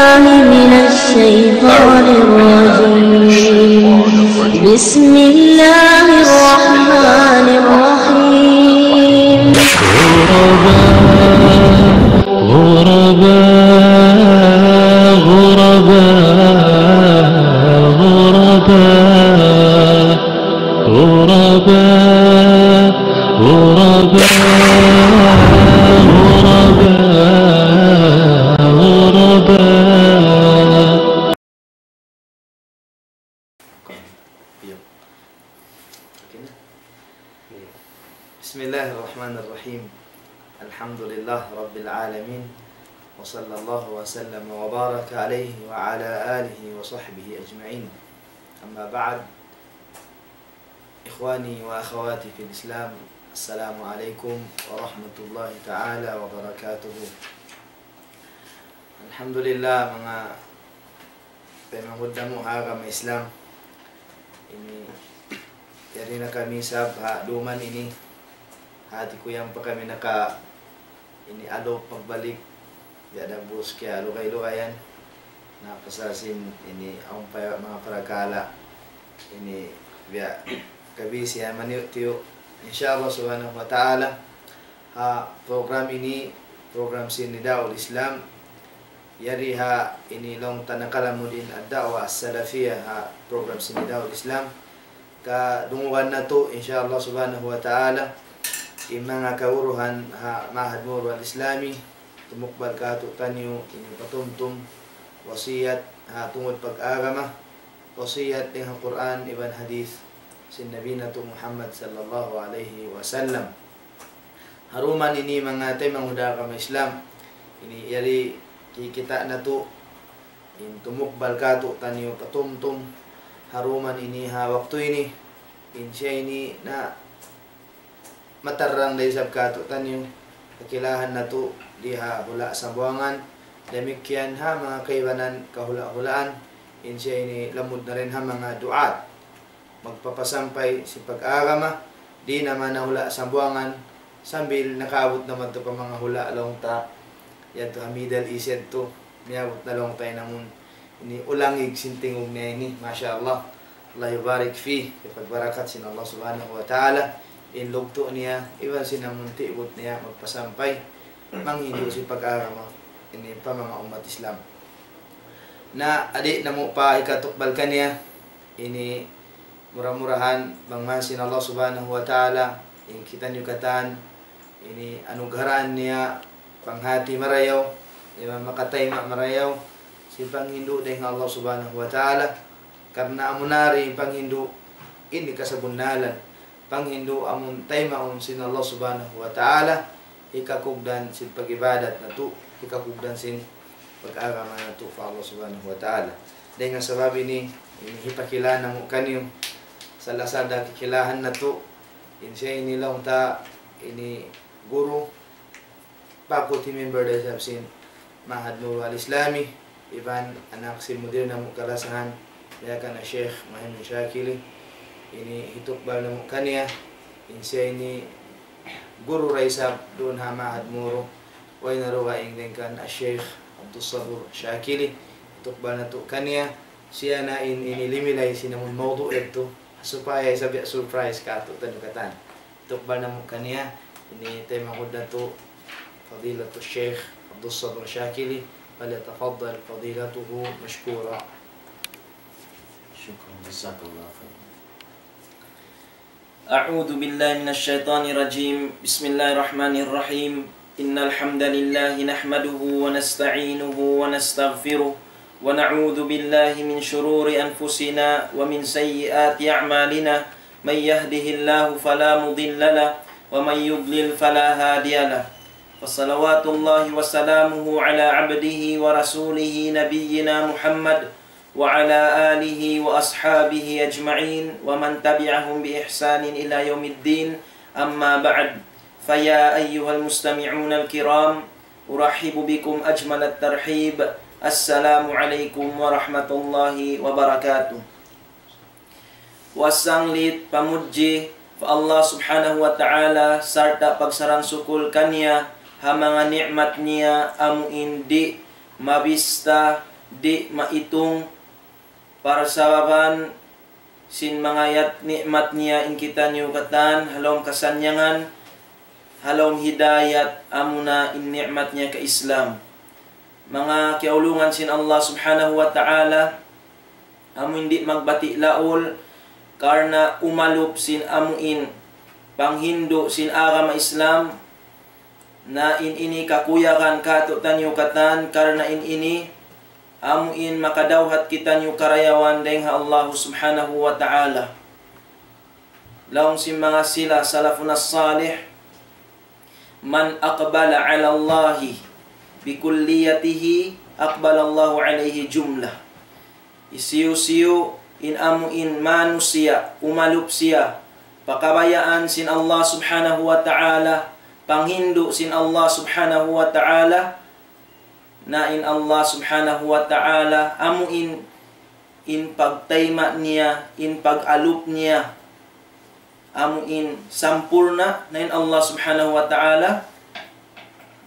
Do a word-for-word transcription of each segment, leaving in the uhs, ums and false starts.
من الشيطان الرجيم. بسم الله الرحمن الرحيم. غرباء، غرباء، غرباء، غرباء. غرباء، غرباء، غرباء، غرباء. بسم الله الرحمن الرحيم. الحمد لله رب العالمين. وصلى الله وسلم وبارك عليه وعلى آله وصحبه أجمعين. أما بعد، إخواني وأخواتي في الإسلام، السلام عليكم ورحمة الله تعالى وبركاته. Alhamdulillah, manga taymanghud namu' ha agama Islam. Ini, yari na kami isab ha duman ini. Hati ku yan pa kami naka ini adlaw pagbalik, biya' da bus kiya lugay-lugayan. Na pasal sin ini awn pa manga parakala'. Ini biya' kabisi ha maniyu'-tiyu'. Insya Allah subhanahu wa ta'ala, ha program ini, program sin Nidaul Islam. Yari ha ini laung ta nakalamud in ad-da'wa as-salafiyah ha program sin Nidaul Islam. Kadungugan natu', insya Allah subhanahu wa ta'ala, in manga kaguruhan ha Ma'had Muru Al-Islami, tumukbal kātu'niyu, ini patumtum, wasiyat, ha tungud pag-agama, wasiyat dayn ha Qur'an iban hadith sin Nabi natu' Muhammad sallallahu alayhi wasallam. Ha duman ini manga taymanghud ha agama Islam, ini yari kikita' natu', in tumukbal kātu'niyu patumtum, ha duman ini ha waktu ini, in siya ini na matarrang da isab kātu'niyu, kakilahan natu' di ha hula' Sambuwangan, damikkiyan ha manga kaibanan kahula'-hulaan, in siya ini lamud na dayn ha manga du'at. Magpapasampay sin pag-agama, di' na man ha hula' Sambuwangan, sambil nakaabut na man tu pa manga hula' laung ta, yadtu ha Middle East yadtu, miyabut na laung ta in amun ini ulangig sin tingug niya ini, masha Allah. Allah yubarik fi, hipagbarakat sin Allah subhanahu wa ta'ala in lugtu' niya, iban sin amun tibut niya magpasampay, manghindu' sin pag-agama ini pa manga ummat Islam. Na di' namu' pa hikatukbal kaniya, ini mura-murahan bang man sin Allah subhanahu wa ta'ala, in kitaniyu katan, ini anugarahan niya panghati marayaw, iban makatayma' marayaw, sin panghindu' dayn ha Allah subhanahu wa ta'ala, karna' amu na in panghindu' ini kasabunnalan, panghindu' amun taymaun sin Allah subhanahu wa ta'ala, hikakugdan sin pag-ibadat natu', hikakugdan sin pag-agama natu' pa Allah subhanahu wa ta'ala. Dayn ha sabab ini, ini hipakilala namu' kaniyu, sala-sala kikilahan natu', in siya ini laung ta, ini guru, faculty member da isab sin Ma'had Nurul Islami, iban anak sin mudir namu' kalasahan, biya' kan Sheikh Muhammad Shakili, ini hitukbal namu' kaniya, in siya ini guru da isab duun ha Ma'had Muru, way na dugaing dayn kan Sheikh Abdul Sabur Shakili, hitukbal natu' kaniya, siya na in ini limilay sin amun mawdu' yadtu, supaya isab biya' surprise kātu'niyu katan. Tukbal namu' kaniya, ini taymanghud natu', Fadilatul Sheikh Abdul Sabur Shakili, فليتفضل فضيلته مشكورا. شكرا، جزاك الله خيرا. أعوذ بالله من الشيطان الرجيم. بسم الله الرحمن الرحيم. إن الحمد لله نحمده ونستعينه ونستغفره، ونعوذ بالله من شرور أنفسنا ومن سيئات أعمالنا. من يهده الله فلا مضل له، ومن يضلل فلا هادي له. وصلوات الله وسلامه على عبده ورسوله نبينا محمد وعلى آله وأصحابه أجمعين ومن تبعهم بإحسان إلى يوم الدين. أما بعد، فيا أيها المستمعون الكرام، أرحب بكم أجمل الترحيب. السلام عليكم ورحمة الله وبركاته. Puas sanglit pamudji pa Allah Subhanahu wa Ta'ala sarta' pagsarang-sukul kaniya ha manga ni'mat niya amu in di' mabista di' maitung parsababan sin manga yat ni'mat niya in kitaniyu katan, ha lawm kasannyangan, ha lawm hidayat, amuna in ni'mat niya ka Islam. Manga kiyaulungan sin Allah Subhanahu wa Ta'ala, amu in di' magbati' laul, karna' umalup sin amu in panghindu' sin agama Islam, na in ini kakuyagan kātu'niyu katan, karna' in ini amu in makadawhat kitaniyu karayawan dayng ha Allah Subhanahu wa Ta'ala. Laung sin manga sila salafun as-salih, من أقبل على الله بكليته أقبل الله عليه جملة. Hisiyu-siyu in amu in manusiya', umalup siya pa kabayaan sin Allah Subhanahu wa Ta'ala, panghindu' sin Allah Subhanahu wa Ta'ala, na in Allah Subhanahu wa Ta'ala, amu in, in pagtayma' niya, in pag-alup niya, amu in sampurna', na in Allah Subhanahu wa Ta'ala,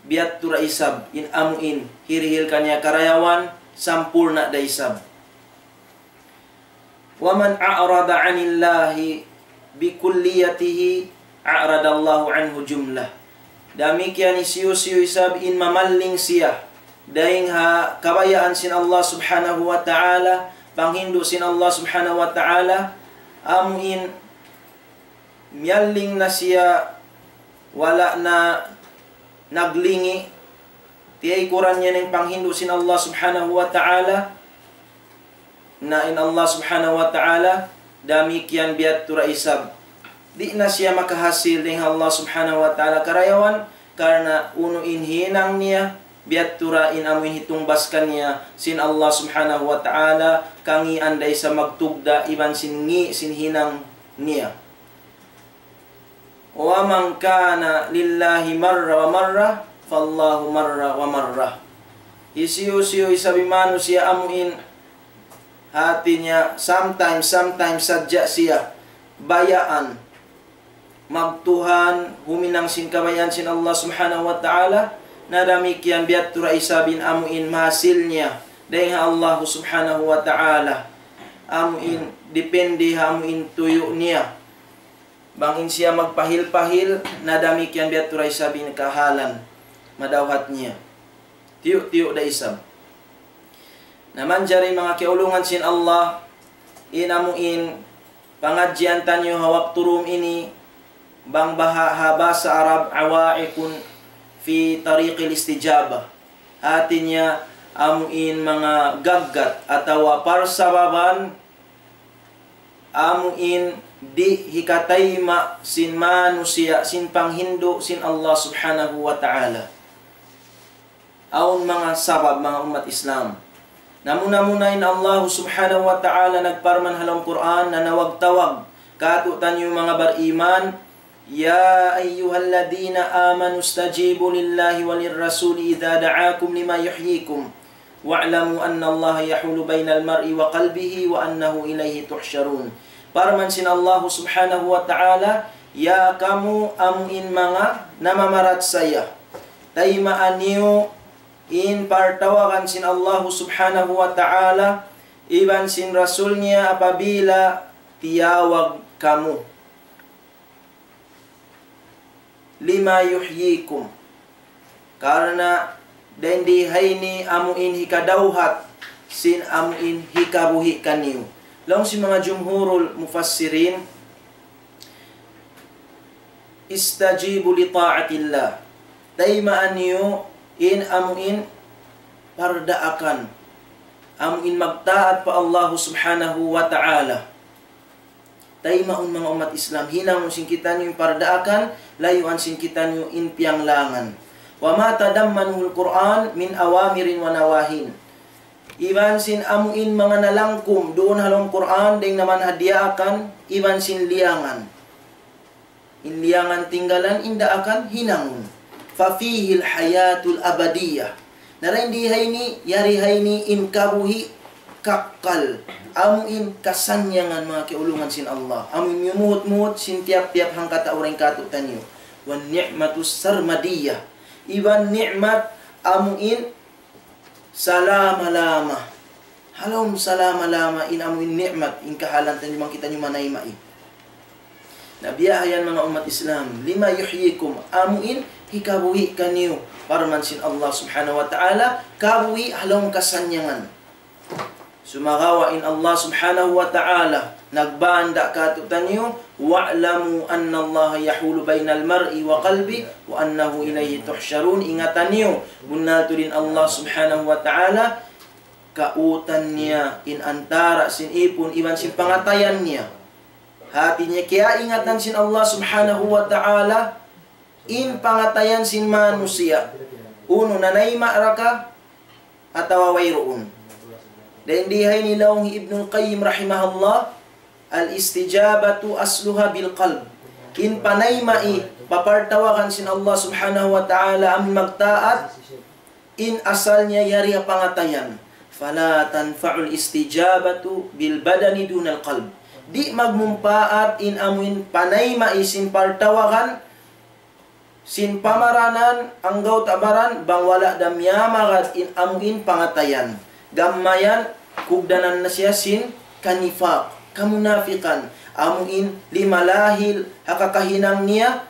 biya' tu da isab, in amu in hirihil kaniya karayawan, sampurna' da isab. ومن أعرض عن الله بكليته أعرض الله عنه جملة. Damikkiyan hisiyu-siyu isab in mamalling siya dayng ha kabayaan sin Allah Subhanahu wa Ta'ala, panghindu' sin Allah Subhanahu wa Ta'ala, amu in miyalling na siya, wala' na naglingi', tiyaykuran niya in panghindu' sin Allah Subhanahu wa Ta'ala, na in Allah Subhanahu wa Ta'ala, damikkiyan biya' tu da isab. Di' na siya makahasil dayng ha Allah Subhanahu wa Ta'ala karayawan, karna' unu in hinang niya, biya' tu da in amu in hitungbas kaniya sin Allah Subhanahu wa Ta'ala, kangian da isab magtugda' iban sin ngi' sin hinang niya. ومن كان لله مرة ومرة فالله مرة ومرة. Hisiyu-siyu isab in manusiya' amu in hati niya sometimes, sometimes sadja siya bayaan magtuhan, huminang sin kabayaan sin Allah Subhanahu wa Ta'ala, na damikkiyan biya' tu da isab in amu in mahasil niya dayng ha Allah Subhanahu wa Ta'ala. Amu in depende ha amu in tuyu' niya. Bang in siya magpahil-pahil, na damikkiyan biya' tu da isab in kahalan madawhat niya. Tiyu'-tiyu' da isab. Na manjari manga kiyaulungan sin Allah, in amu in pangadjian taniyu ha waktu dum ini, bang baha' ha bahasa Arab, عوائق في طريق الاستجابة. Hati niya, amu in manga gaggat atawa parsababan amu in di' hikatayma' sin manusiya' sin panghindu' sin Allah Subhanahu wa Ta'ala. Awn manga sabab, manga ummat Islam. Na muna-muna in Allah Subhanahu wa Ta'ala nagparman ha lawm Qur'an, nanawag-tawag kātu'niyu manga bariman, يا أيها الذين آمنوا استجيبوا لله وللرسول إذا دعاكم لما يحييكم واعلموا أن الله يحول بين المرء وقلبه وأنه إليه تحشرون. Parman sin Allah Subhanahu wa Ta'ala, ya kamu amu in manga namamarachaya, tayma'a niyu in partawagan sin Allah Subhanahu wa Ta'ala iban sin Rasul niya apabila tiyawag kamu. لما يحييكم. Karna' dayn di ha ini amu in hikadawhat sin amu in hikabuhi' kaniyu. Laung sin manga jumhurul mufassirin, استجيبوا لطاعة الله. Tayma'a niyu in amu in pardaakan. Amu in magtaat pa Allah Subhanahu wa Ta'ala. Taymaun manga ummat Islam, hinangun sin kitaniyu in pardaakan, layuan sin kitaniyu in piyanglangan. وما تضمنه القرآن من أوامر ونواهي. Iban sin amu in manga nalangkum duun ha lawm Qur'an, dayng naman ha diyaakan, iban sin liyangan. In liyangan tinggalan, in daakan hinangun. ففيه الحياة الأبدية. Na dayn di ha ini, yari ha ini in kabuhi' kakkal. Amu in kasannyangan manga kiyaulungan sin Allah. Amu in miyumuhut-muhut sin tiyap-tiyap hangkatau dayn kātu'niyu. والنعمة السرمدية. Iban ni'mat amu in salama-lama. ha lawm salama-lama in amu in ni'mat, in kahalan taniyu bang kitaniyu manayma'i. Na biya' ha yan manga ummat Islam, لم يحييكم, amu in hikabuhi' kaniyu, parman sin Allah Subhanahu wa Ta'ala, kabuhi' ha lawm kasannyangan. Sumagawa' in Allah Subhanahu wa Ta'ala nagbanda' kātu'niyu, واعلموا أن الله يحول بين المرء وقلبه وأنه إليه تحشرون. Ingatan niyu, bunnal tuud in Allah Subhanahu wa Ta'ala, kautan niya in antara' sin ipun iban sin pangatayan niya. Hāti niya, kiyaingatan sin Allah Subhanahu wa Ta'ala in pangatayan sin manusiya'. Unu, nanayma' ra ka atawa wayruun. Dayn di ha ini laung hi Ibnul Qayyim rahimahullah, الاستجابة أصلها بالقلب. In panayma'i, papartawagan sin Allah Subhanahu wa Ta'ala amun magtaat, in asal niya yari ha pangatayan. فلا تنفع الاستجابة بالبدن دون القلب. Di' magmumpaat in amuin panayma'i sin partawagan sin pamaranan, anggawta' baran, bang wala' da miyamagad in amuin pangatayan. Gam mayan, kugdanan na siya sin kanifak, kamunafikan, amuin limalahil ha kakahinang niya,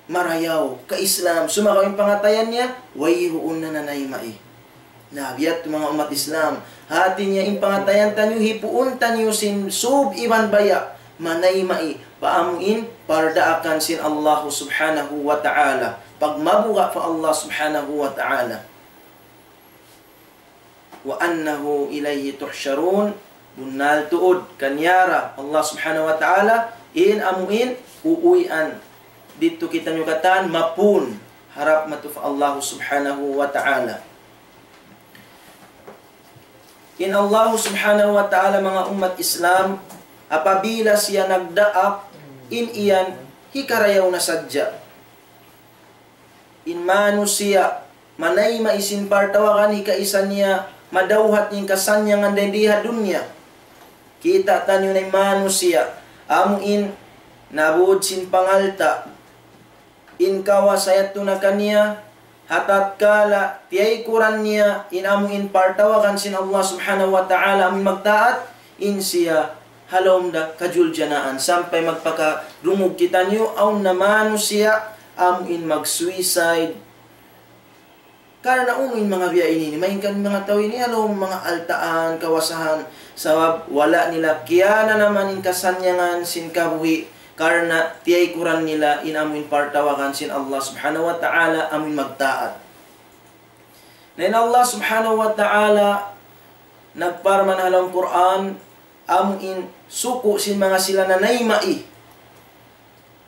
marayaw, ka-Islam, sumagawa' in pangatayan niya, wayruun na nanayma'i. Na, biya' ha yan manga ummat Islam. Hāti niya in pangatayan taniyu, hipuun taniyu sin sūb iban baya', manayma'i, pa amuin pardaakan sin Allah Subhanahu wa Ta'ala. Pagmabuga' pa Allah Subhanahu wa Ta'ala. وأنه إليه تحشرون. Bunnal tuud, kaniya ra Allah Subhanahu wa Ta'ala in amuin uuwian. Didtu kitaniyu katan mapun harap matu pa Allah Subhanahu wa Ta'ala. In Allah Subhanahu wa Ta'ala, manga ummat Islam, apabila siya nagdaak, in yan hikarayaw na sadja. In manusiya', manayma'i sin partawagan, hikaisa niya, madawhat in kasannyangan dayn di ha dunya. Kita' taniyu na in manusiya', amuin nabud sin pangalta', in kawasa yadtu na kaniya, ha tatkala tiyaykuran niya in amuin partawagan sin Allah Subhanahu wa Ta'ala, amuin magtaat, in siya ha lawm da kajuljanaan, sampay magpakarungug kitaniyu, awn na manusiya', amuin mag-suicide. Karna' unu in manga biya' ini, ini, malayngkan manga tau ini, ha lawm manga altaan, kawasahan, sabab wala' nila kiyananaman in kasannyangan sin kabuhi', karna' tiyaykuran nila in amuin partawagan sin Allah Subhanahu wa Ta'ala, amuin magtaat. Na in Allah Subhanahu wa Ta'ala nagparman ha lawm Qur'an, amuin suku' sin manga sila nanayma'i.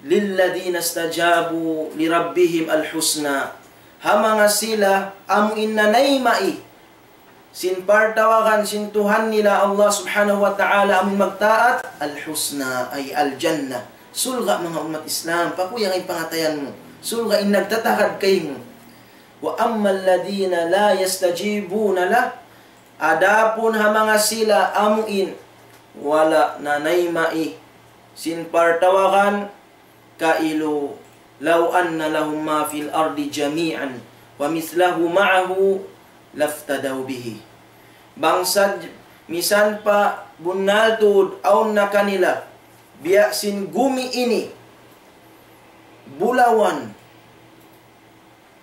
للذين استجابوا لربهم الحسنى. Ha manga sila amuin nanayma'i sin partawagan sin Tuhan nila Allah Subhanahu wa Ta'ala amuin magtaat, الحسنى, ay al-jannah. Surga', manga ummat Islam, pakuyag in pangatayan mu. Surga' in nagtatagad kaymu. وأما الذين لا يستجيبون له. Adapun ha manga sila amuin wala' nanayma'i sin partawagan, kailu, لو أن لهم ما في الأرض جميعا ومثله معه لافتدوا به. Bang sad-, misan pa bunnal tuud awn na kanila biya' sin gumi ini, bulawan,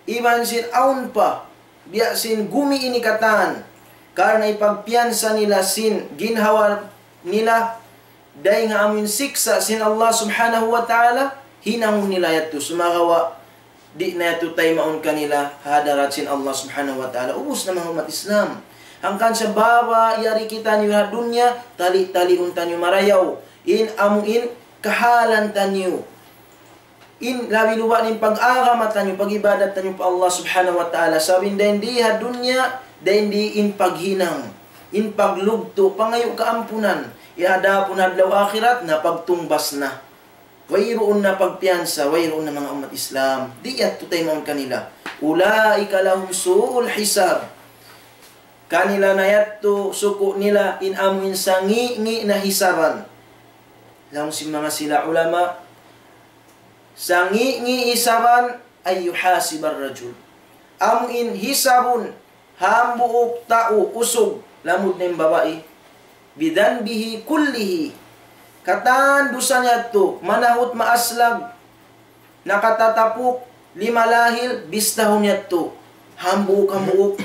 iban sin awn pa, biya' sin gumi ini katan, karna' ipagpiyansa nila sin ginhawa nila, dayng ha amuin siksa' sin Allah Subhanahu wa Ta'ala, hinangun nila yadtu, sumagawa' di' na yadtu taymaun kanila ha hadarat sin Allah Subhanahu wa Ta'ala. Ubus na, manga ummat Islam. Hangkan sabab yari kitaniyu ha dunya, tali-taliun taniyu marayaw in amuin kahalan taniyu. In labi-labi na in pag-agama taniyu, pag-ibadat taniyu pa Allah Subhanahu wa Ta'ala. Sabab in dayn di ha dunya, dayn di in paghinang, in paglugtu', pangayu' kaampunan. Adapun adlaw akhirat, na pagtungbas na. Wayruun na pagpiyansa, wayruun na, manga ummat Islam. Di' yadtu taymaun kanila. أولئك لهم سوء الحساب. Kanila na yadtu suku' nila in amuin sangi'-ngi' na hisaban. Laung sin manga sila ulama, sangi'-ngi' hisaban, أن يحاسب الرجل. Amuin hisabun, hambuuk tau usug, lamud na in babai, بذنبه كله, katan dusa niya yadtu, manahut maaslag, nakatatapuk, lima lahil, bistahun yadtu, hambuuk-hambuuk.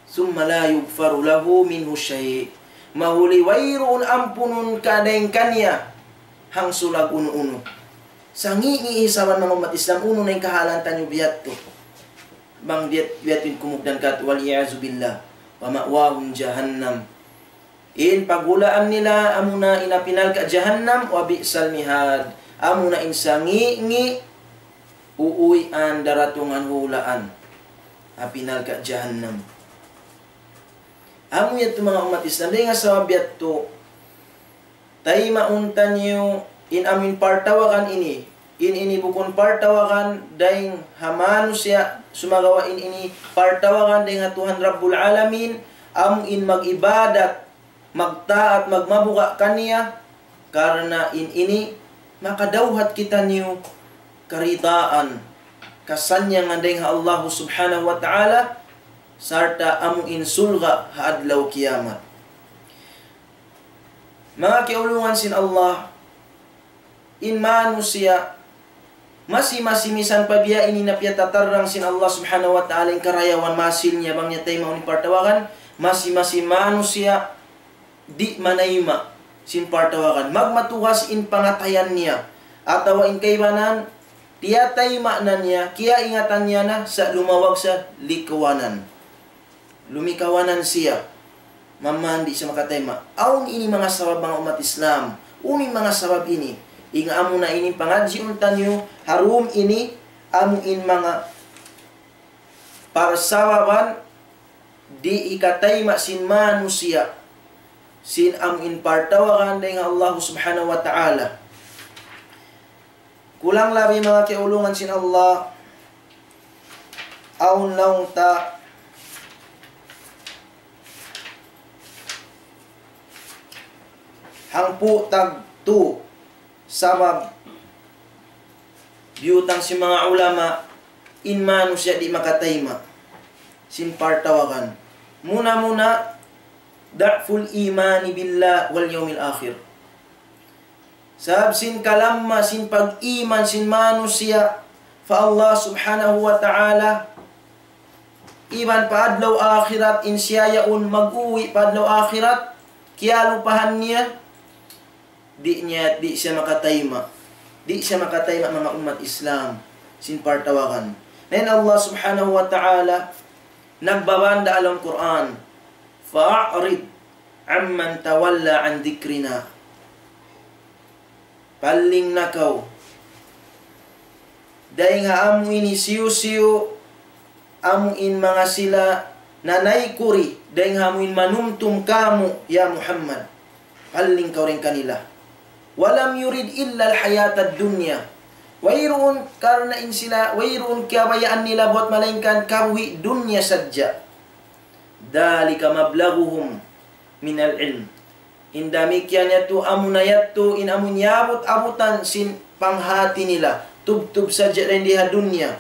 ثم لا يغفر له منه شيء. Mahuli wayruun ampunun kadayn kaniya hangsulag unu-unu. Sangi' ini hisaban manga ummat Islam, unu na in kahalan taniyu biya' yadtu. Bang biya' yadtu in kumugdan katu', والعياذ بالله. ومأواهم جهنم. In paghulaan nila amuna in api narka' jahannam, وبئس المهاد. Amuna in sangi'-ngi' uuwian, daratungan, hulaan. Api narka' jahannam. Amu yadtu manga ummat Islam, dayn ha sabab yadtu, taymaun taniyu in amuin partawagan ini, in ini bukun partawagan dayn ha manusiya', sumagawa' in ini partawagan dayn ha Tuhan Rabbul Alamin, amuin mag-ibadat, magtaat, magmabuga' kaniya, karna' in ini makadawhat kitaniyu karidaan, kasannyangan dayn ha Allah Subhanahu wa Ta'ala, sarta' amuin surga' ha adlaw kiyamat. Manga kiyaulungan sin Allah, in manusiya', masi-masi misan pa biya' ini na piyatatarrang sin Allah Subhanahu wa Ta'ala in karayawan masil niya bang niya taymaun in partawagan, masi-masi manusiya' di' manayma' sin partawagan. Magmatugas in pangatayan niya, atawa in kaibanan, tiyatayma' na niya, kiyaingatan niya na, sa' lumawag sa likawanan. Lumikawanan siya. Mamandi siya makatayma'. Awn ini manga sabab manga ummat Islam. Unu in manga sabab ini. Inga amu na ini pangadjiun taniyu, ha dum ini, amu in manga parsababan di' hikatayma' sin manusiya'. Sin amu in partawagan dayn ha Allah Subhanahu wa Ta'ala. Kulang labi manga kiyaulungan sin Allah, awn laung ta hangpu' tagtu sabab biyutang sin manga ulama in manusiya' di' makatayma' sin partawagan. Muna-muna, ضعف الإيمان بالله واليوم الآخر. Sabab sin kalamma sin pag-iman sin manusiya' pa Allah Subhanahu wa Ta'ala, iban pa adlaw akhirat, in siya yaun mag-uwi' pa adlaw akhirat, kiyalupahan niya, di' niya, di' siya makatayma'. Di' siya makatayma' manga ummat Islam, sin partawagan. Na in Allah Subhanahu wa Ta'ala, nagbabanda' ha lawm Qur'an, فأعرض عمن تولى عن ذكرنا. Palling na kaw dayn ha amu ini hisiyu-siyu, amu in manga sila nanaykuri, dayn ha amu in manumtum kamu', ya Muhammad. Palling kaw dayn kanila. ولم يرد إلا الحياة الدنيا. Wayruun karna' in sila, wayruun kiyabayaan nila buwat malaingkan kabuhi' dunya sadja. ذلك مبلغهم من العلم. In damikkiyan yadtu, amuna yadtu in amun iyabut-abutan sin panghati nila. Tubtub sadja dayn di ha dunya.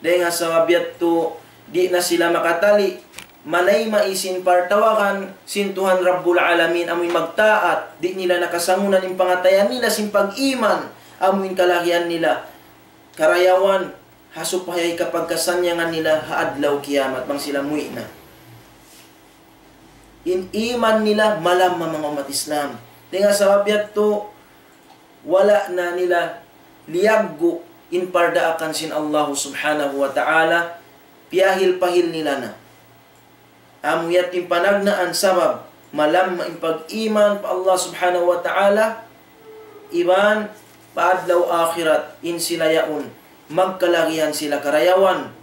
Dayn ha sabab yadtu, di' na sila makatali manayma' sin partawagan sin Tuhan Rabbul Alamin, amun magtaat, di' nila nakasangunan in pangatayan nila sin pag-iman, amun kalagihan nila karayawan, ha supaya hikapagkasannyangan nila ha adlaw kiyamat bang sila muwi' na. In iman nila malamma, manga ummat Islam. Dayn ha sabab yadtu, wala' na nila liyaggu' in pardaakan sin Allah Subhanahu wa Ta'ala, piyahil-pahil nila na. Amu yadtu in panagnaan sabab malamma in pag-iman pa Allah Subhanahu wa Ta'ala, iban pa adlaw akhirat, in sila yaun magkalagihan sila karayawan.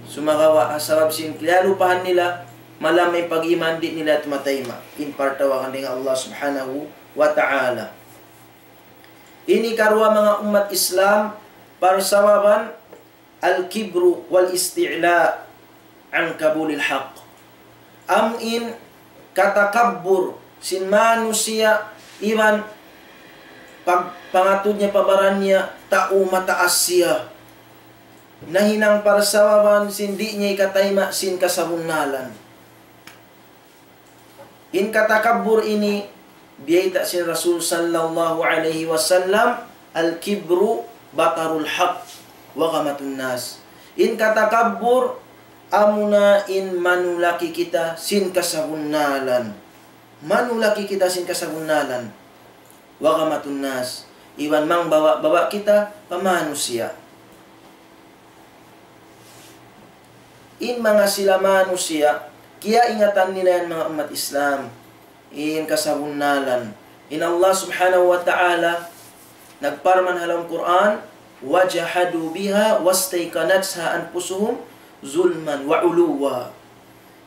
Sumagawa' ha sabab sin kiyalupahan nila, malamma in pag-iman, di' nila tumatayma' in partawagan dayn ha Allah Subhanahu wa Ta'ala. Ini karuwa, manga ummat Islam, parsababan الكبر والاستعلاء عن قبول الحق. Amu in katakabbur sin manusiya' iban pag-, pangatud niya pa baran niya, tau mataas siya. nahinang parsababan sin di' niya hikatayma' sin kasabunnalan. In katakabbur ini, biyayta' sin Rasul sallallahu alayhi wasallam, "الكبر بطر الحق وغمط الناس." In katakabbur, amuna in manulaki kita sin kasabunnalan. Manulaki kita sin kasabunnalan. وغمط الناس. Iban mangbawa'-bawa' kita pa manusiya'. In manga sila manusiya', kiyaingatan nila yan manga ummat Islam. In kasabunnalan. In Allah subhanahu wa ta'ala, nagparman ha lawm Qur'an, "وجحدوا بها واستيقنتها أنفسهم ظلما وعلوا."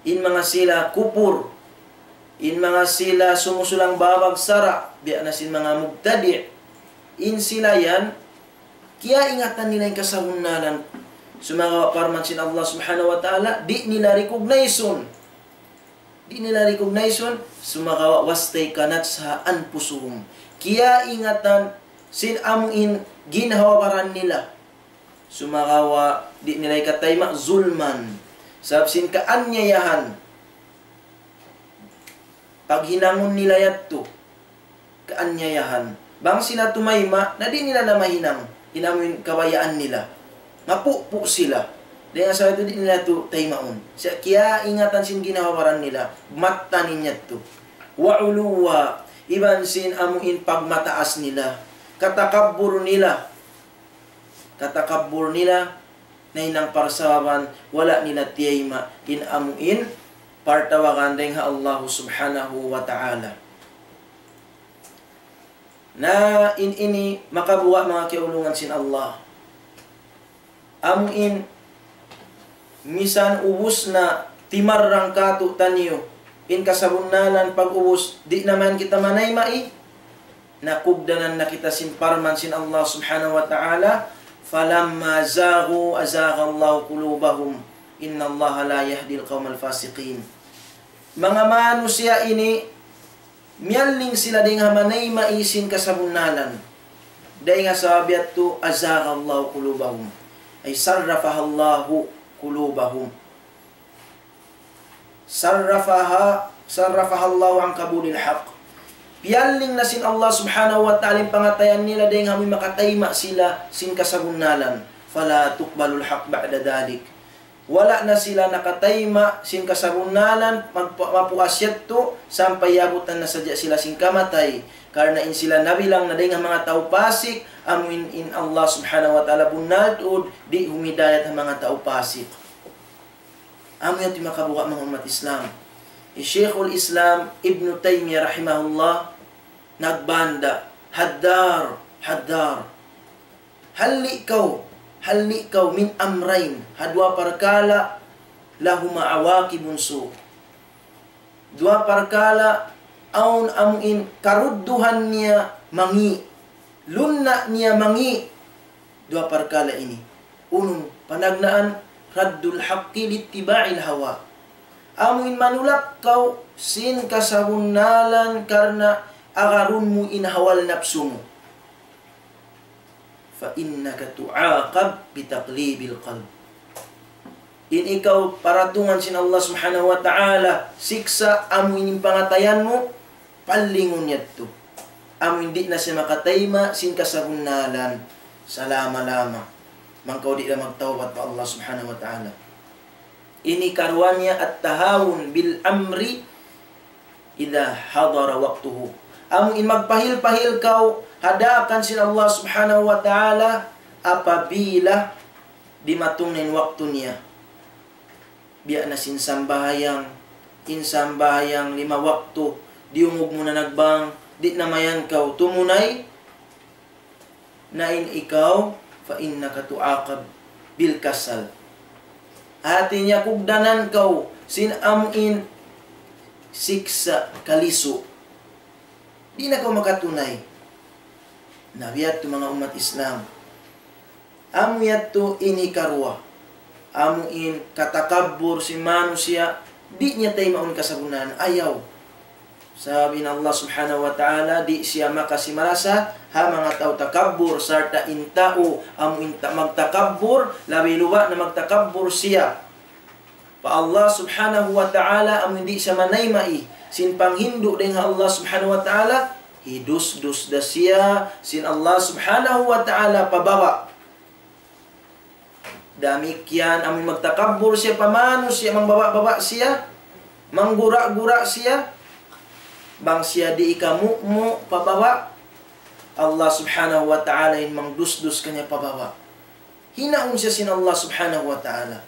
In manga sila kupur, in manga sila sumusulang babag sara', biya' na sin manga mubtadi', in sila yan, kiyaingatan nila in kasabunnalan. Sumagawa' parman sin Allah subhanahu wa ta'ala, di' nila recognize-un. Di' nila recognize-un, sumagawa' واستيقنتها أنفسهم. Kiyaingatan sin amu in ginhawa-baran nila. Sumagawa' di' nila hikatayma' ظلما. Sabab sin kaanyayahan. Paghinangun nila yadtu. Kaanyayahan. Bang sila tumayma', na di' nila na mahinang in amu in kabayaan nila. Mapupu' sila. Dayn ha sabab yadtu di' nila yadtu taymaun. Sa' kiyaingatan sin ginhawa-baran nila, mattan in yadtu. وعلوا, iban sin amu in pagmataas nila. Katakabbur nila. Katakabbur nila, nahinang parsababan, wala' nila tiyayma' in amu in partawagan dayn ha Allah subhanahu wa ta'ala. Na in ini makabuga' manga kiyaulungan sin Allah. Amu in misan ubus na timarrang kātu'niyu in kasabunnalan pag-ubus di' na man kita manayma'i. Nakugdanan na kita sin parman sin Allah subhanahu wa ta'ala, فلما زاغوا أزاغ الله قلوبهم إن الله لا يهدي القوم الفاسقين. Manga manusiya' ini, miyalling sila dayn ha manayma'i sin kasabunnalan. Dayn ha sabab yadtu, أزاغ الله قلوبهم. أي صرفها الله قلوبهم. صرفها، صرفها الله عن قبول الحق. Piyalling na sin Allah subhanahu wa ta'ala in pangatayan nila dayn ha amu in makatayma' sila sin kasabunnalan. فلا تقبل الحق بعد ذلك. Wala' na sila nakatayma' sin kasabunnalan, magpa-, mapuas yadtu, sampay yabutan na sadja sila sin kamatay. Karna' in sila nabilang na dayn ha manga tau pasik, amu in, in Allah subhanahu wa ta'ala bunnal tuud, di' humidayat ha manga tau pasik. Amu yadtu in makabuga' manga ummat Islam. Hi Shaykhul Islam Ibn Taymiyyah rahimahullah, nagbanda, حذر، حذر. Halli' kaw, halli' kaw من أمرين, ha duwa parkala', لهما عواقب سوء. Duwa parkala', awn amu in karudduhan niya mangi', lunna' niya mangi'. Duwa parkala' ini. Unu, panagnaan, رد الحق لاتباع الهوى. Amu in manulak kaw sin kasabunnalan karna' agarun mu in hawa napsu mu. فإنك تعاقب بتقليب القلب. In ikaw paratungan sin Allah subhanahu wa ta'ala, siksa' amu in pangatayan mu, pallingun yadtu. Amu in di' na siya makatayma' sin kasabunnalan, salama-lama. Bang kaw di' na magtawbat pa Allah subhanahu wa ta'ala. Ini karuwa niya التهاون بالأمر إذا حضر وقته. Amu in magpahil-pahil kaw ha daakan sin Allah subhanahu wa ta'ala apabila dimatung na in waktu niya. Biya' na sin sambahayang, in sambahayang lima waktu, diyungug mu na nagbang, di' na mayan kaw tumunay, na in ikaw, فإنك تعاقب بالكسل. Hati niya kugdanan kaw sin amu in siksa' kalisu'. Di' na kaw makatunay. Na biya' yadtu manga ummat Islam. Amu yadtu ini karuwa. Amu in katakabbur sin manusiya', di' niya taymaun kasabunnalan. Ayaw. Sabab in Allah Subhanahu wa Ta'ala di' siya makasi marasa ha manga tau takabbur, sarta' in tau amu in ta-, magtakabbur, labi luba' na magtakabbur siya pa Allah Subhanahu wa Ta'ala, amu in di' siya manayma'i sin panghindu' dayn ha Allah Subhanahu wa Ta'ala, hidusdus da siya sin Allah Subhanahu wa Ta'ala pa baba'. Damikkiyan amu in magtakabbur siya pa manusiya', mangbaba'-baba' siya, manggura'-gura' siya, bang siya di' ikamu'mu' pa baba', Allah Subhanahu wa Ta'ala in mangdusdus kaniya pa baba'. Hinaun siya sin Allah Subhanahu wa Ta'ala.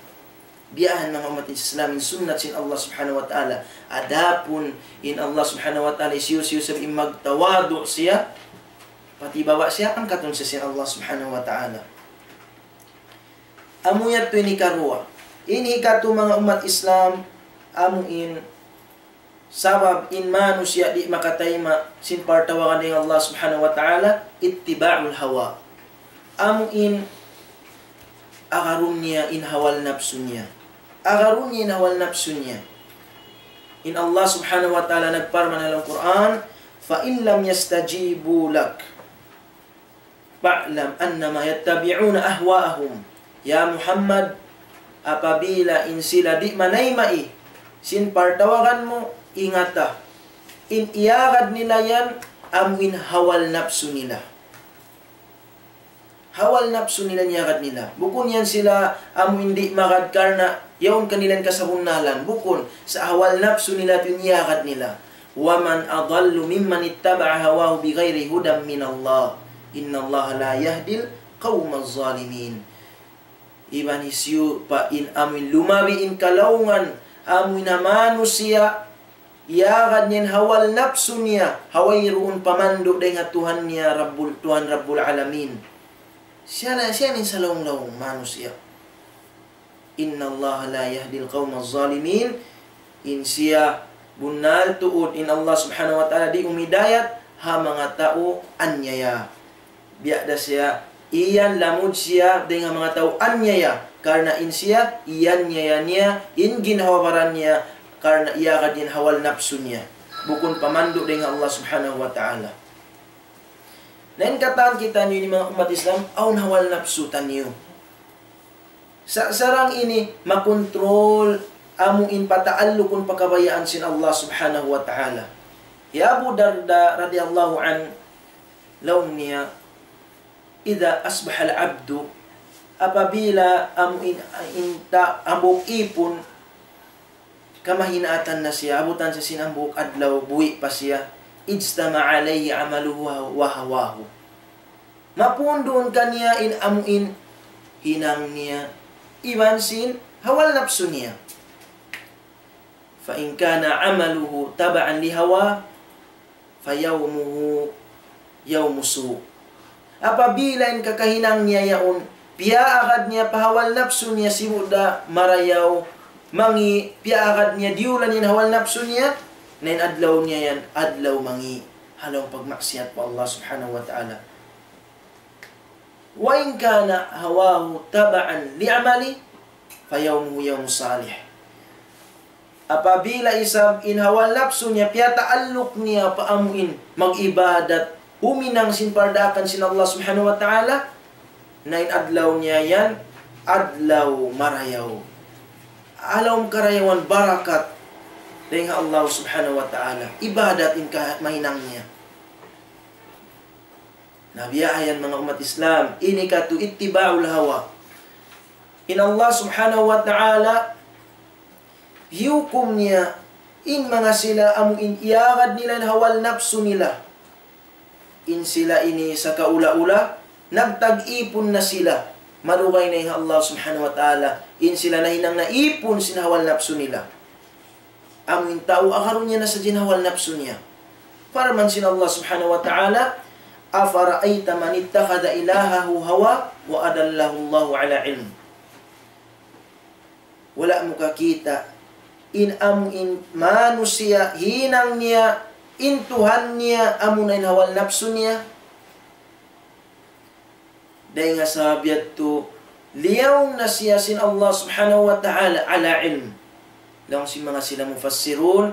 Biya' ha yan manga ummat Islam in sunnat sin Allah Subhanahu wa Ta'ala. Adapun in Allah Subhanahu wa Ta'ala hisiyu-siyu sabab in magtawadu' siya, pa baba' siya, angkatun siya sin Allah Subhanahu wa Ta'ala. Amu yadtu in hikaruwa. In hikatu manga ummat Islam, amu in sabab in manusiya' di' makatayma' sin partawagan dayn ha Allah Subhanahu wa Ta'ala, ittiba'ul hawa. Amu in agarun niya in hawa napsu niya. Agarun niya in hawa napsu niya. In Allah Subhanahu wa Ta'ala nagparman ha lawm Qur'an, فَإِنْ لَمْ يَسْتَجِيبُوا لَكَ فَاعْلَمْ أَنَّمَا يَتَّبِعُونَ أَهْوَاءَهُمْ. Ya Muhammad, apabila in sila di' manayma'i sin partawagan mu, ingata. In iyagad nila yan, amu in hawa napsu nila. Hawa napsu nila in iyagad nila. Bukun yan sila amu in di' magad karna' yaun kanila in kasabunnalan. Bukun, sa' hawa napsu nila in iyagad nila. وَمَنْ أَضَلُّ مِمَّنِ اتَّبَعَ هَوَاهُ بِغَيْرِ هُدًى مِنَ اللَّهِ إِنَّ اللَّهَ لَا يَهْدِي الْقَوْمَ الظَّالِمِينَ. Iban hisiyu pa in amu in lumabi in kalaungan, amu in manusiya', iyagad niya in hawa napsu niya, ha wayruun pamandu' dayn ha Tuhan niya, Rabbul, Tuhan Rabbul Alamin. Siya na, siya na in salaung-laung manusiya'. إِنَّ اللَّهَ لَا يَهْدِي الْقَوْمَ الظَّالِمِينَ. In siya bunnal tuud, in Allah Subhanahu wa Ta'ala di' umidayat ha manga tau anyaya. Biya' da siya, iyan lamud siya dayn ha manga tau anyaya. Karna' in siya, iyanyaya niya, in ginhawa-baran niya, karna' iyagad niya in hawa napsu niya. Bukun pamandu' dayn ha Allah Subhanahu wa Ta'ala. Na in katan kitaniyu ini manga ummat Islam, awn hawa napsu taniyu. Sa-, sarang ini makontrol amu in pataallukun pa kabayaan sin Allah Subhanahu wa Ta'ala. Hi Abu Darda radiyallahu anhu, laung niya, إِذَا أَصْبَحَ الْعَبْدُ, apabila amu in, in ta-, hambuuk īpun, kamahinaatan na siya, abutan siya sin hambuuk adlaw, buhi' pa siya, اجتمع عليه عمله وهواه. Mapuun duun kaniya in amu in hinang niya, iban sin hawa napsu niya. فَإِنْ كَانَ عَمَلُهُ تَبَعًا لِهَوَاهُ فَيَوْمُهُ يَوْمُ سُوءٍ. Apabila in kakahinang niya yaun, piyaagad niya pa hawa napsu niya sibu' da marayaw, mangi', piyaagad niya diyulan in hawa napsu niya, na in adlaw niya yan, adlaw mangi', ha lawm pagmaksiyat pa Allah Subhanahu wa Ta'ala. وَإِنْ كَانَ هَوَاهُ تَبَعًا لِعَمَلِهِ فَيَوْمُهُ يَوْمُ صَالِحٍ. Apabila isab in hawa napsu niya piyataalluk niya pa amu in mag-ibadat, huminang sin pardaakan sin Allah Subhanahu wa Ta'ala, na in adlaw niya yan, adlaw marayaw. Ha lawm karayawan barakat dayn ha Allah Subhanahu wa Ta'ala. Ibadat in ka-, mahinang niya. Na biya' ha yan manga ummat Islam, ini katu' ittiba'ul hawa. In Allah Subhanahu wa Ta'ala, hiyukum niya, in manga sila amu in iyagad nila in hawa napsu nila. In sila ini sa kaula-ula, nagtag-ipun na sila. Malugay na in Allah Subhanahu wa Ta'ala, in sila nahinang na ipun sin hawa napsu nila. Amu in tau agarun niya na sadja in hawa napsu niya. Parman sin Allah Subhanahu wa Ta'ala, أَفَرَأَيْتَ مَنِ اتَّخَذَ إِلَٰهَهُ هَوَاهُ وَأَضَلَّهُ اللَّهُ عَلَىٰ عِلْمٍ. Wala' mu kakita' in amu in manusiya' hinang niya in Tuhan niya amuna in hawa napsu niya. Dayn ha sabab yadtu, liyaw na siya sin Allah Subhanahu wa Ta'ala ala ilm. Laung sin manga sila mufassirun,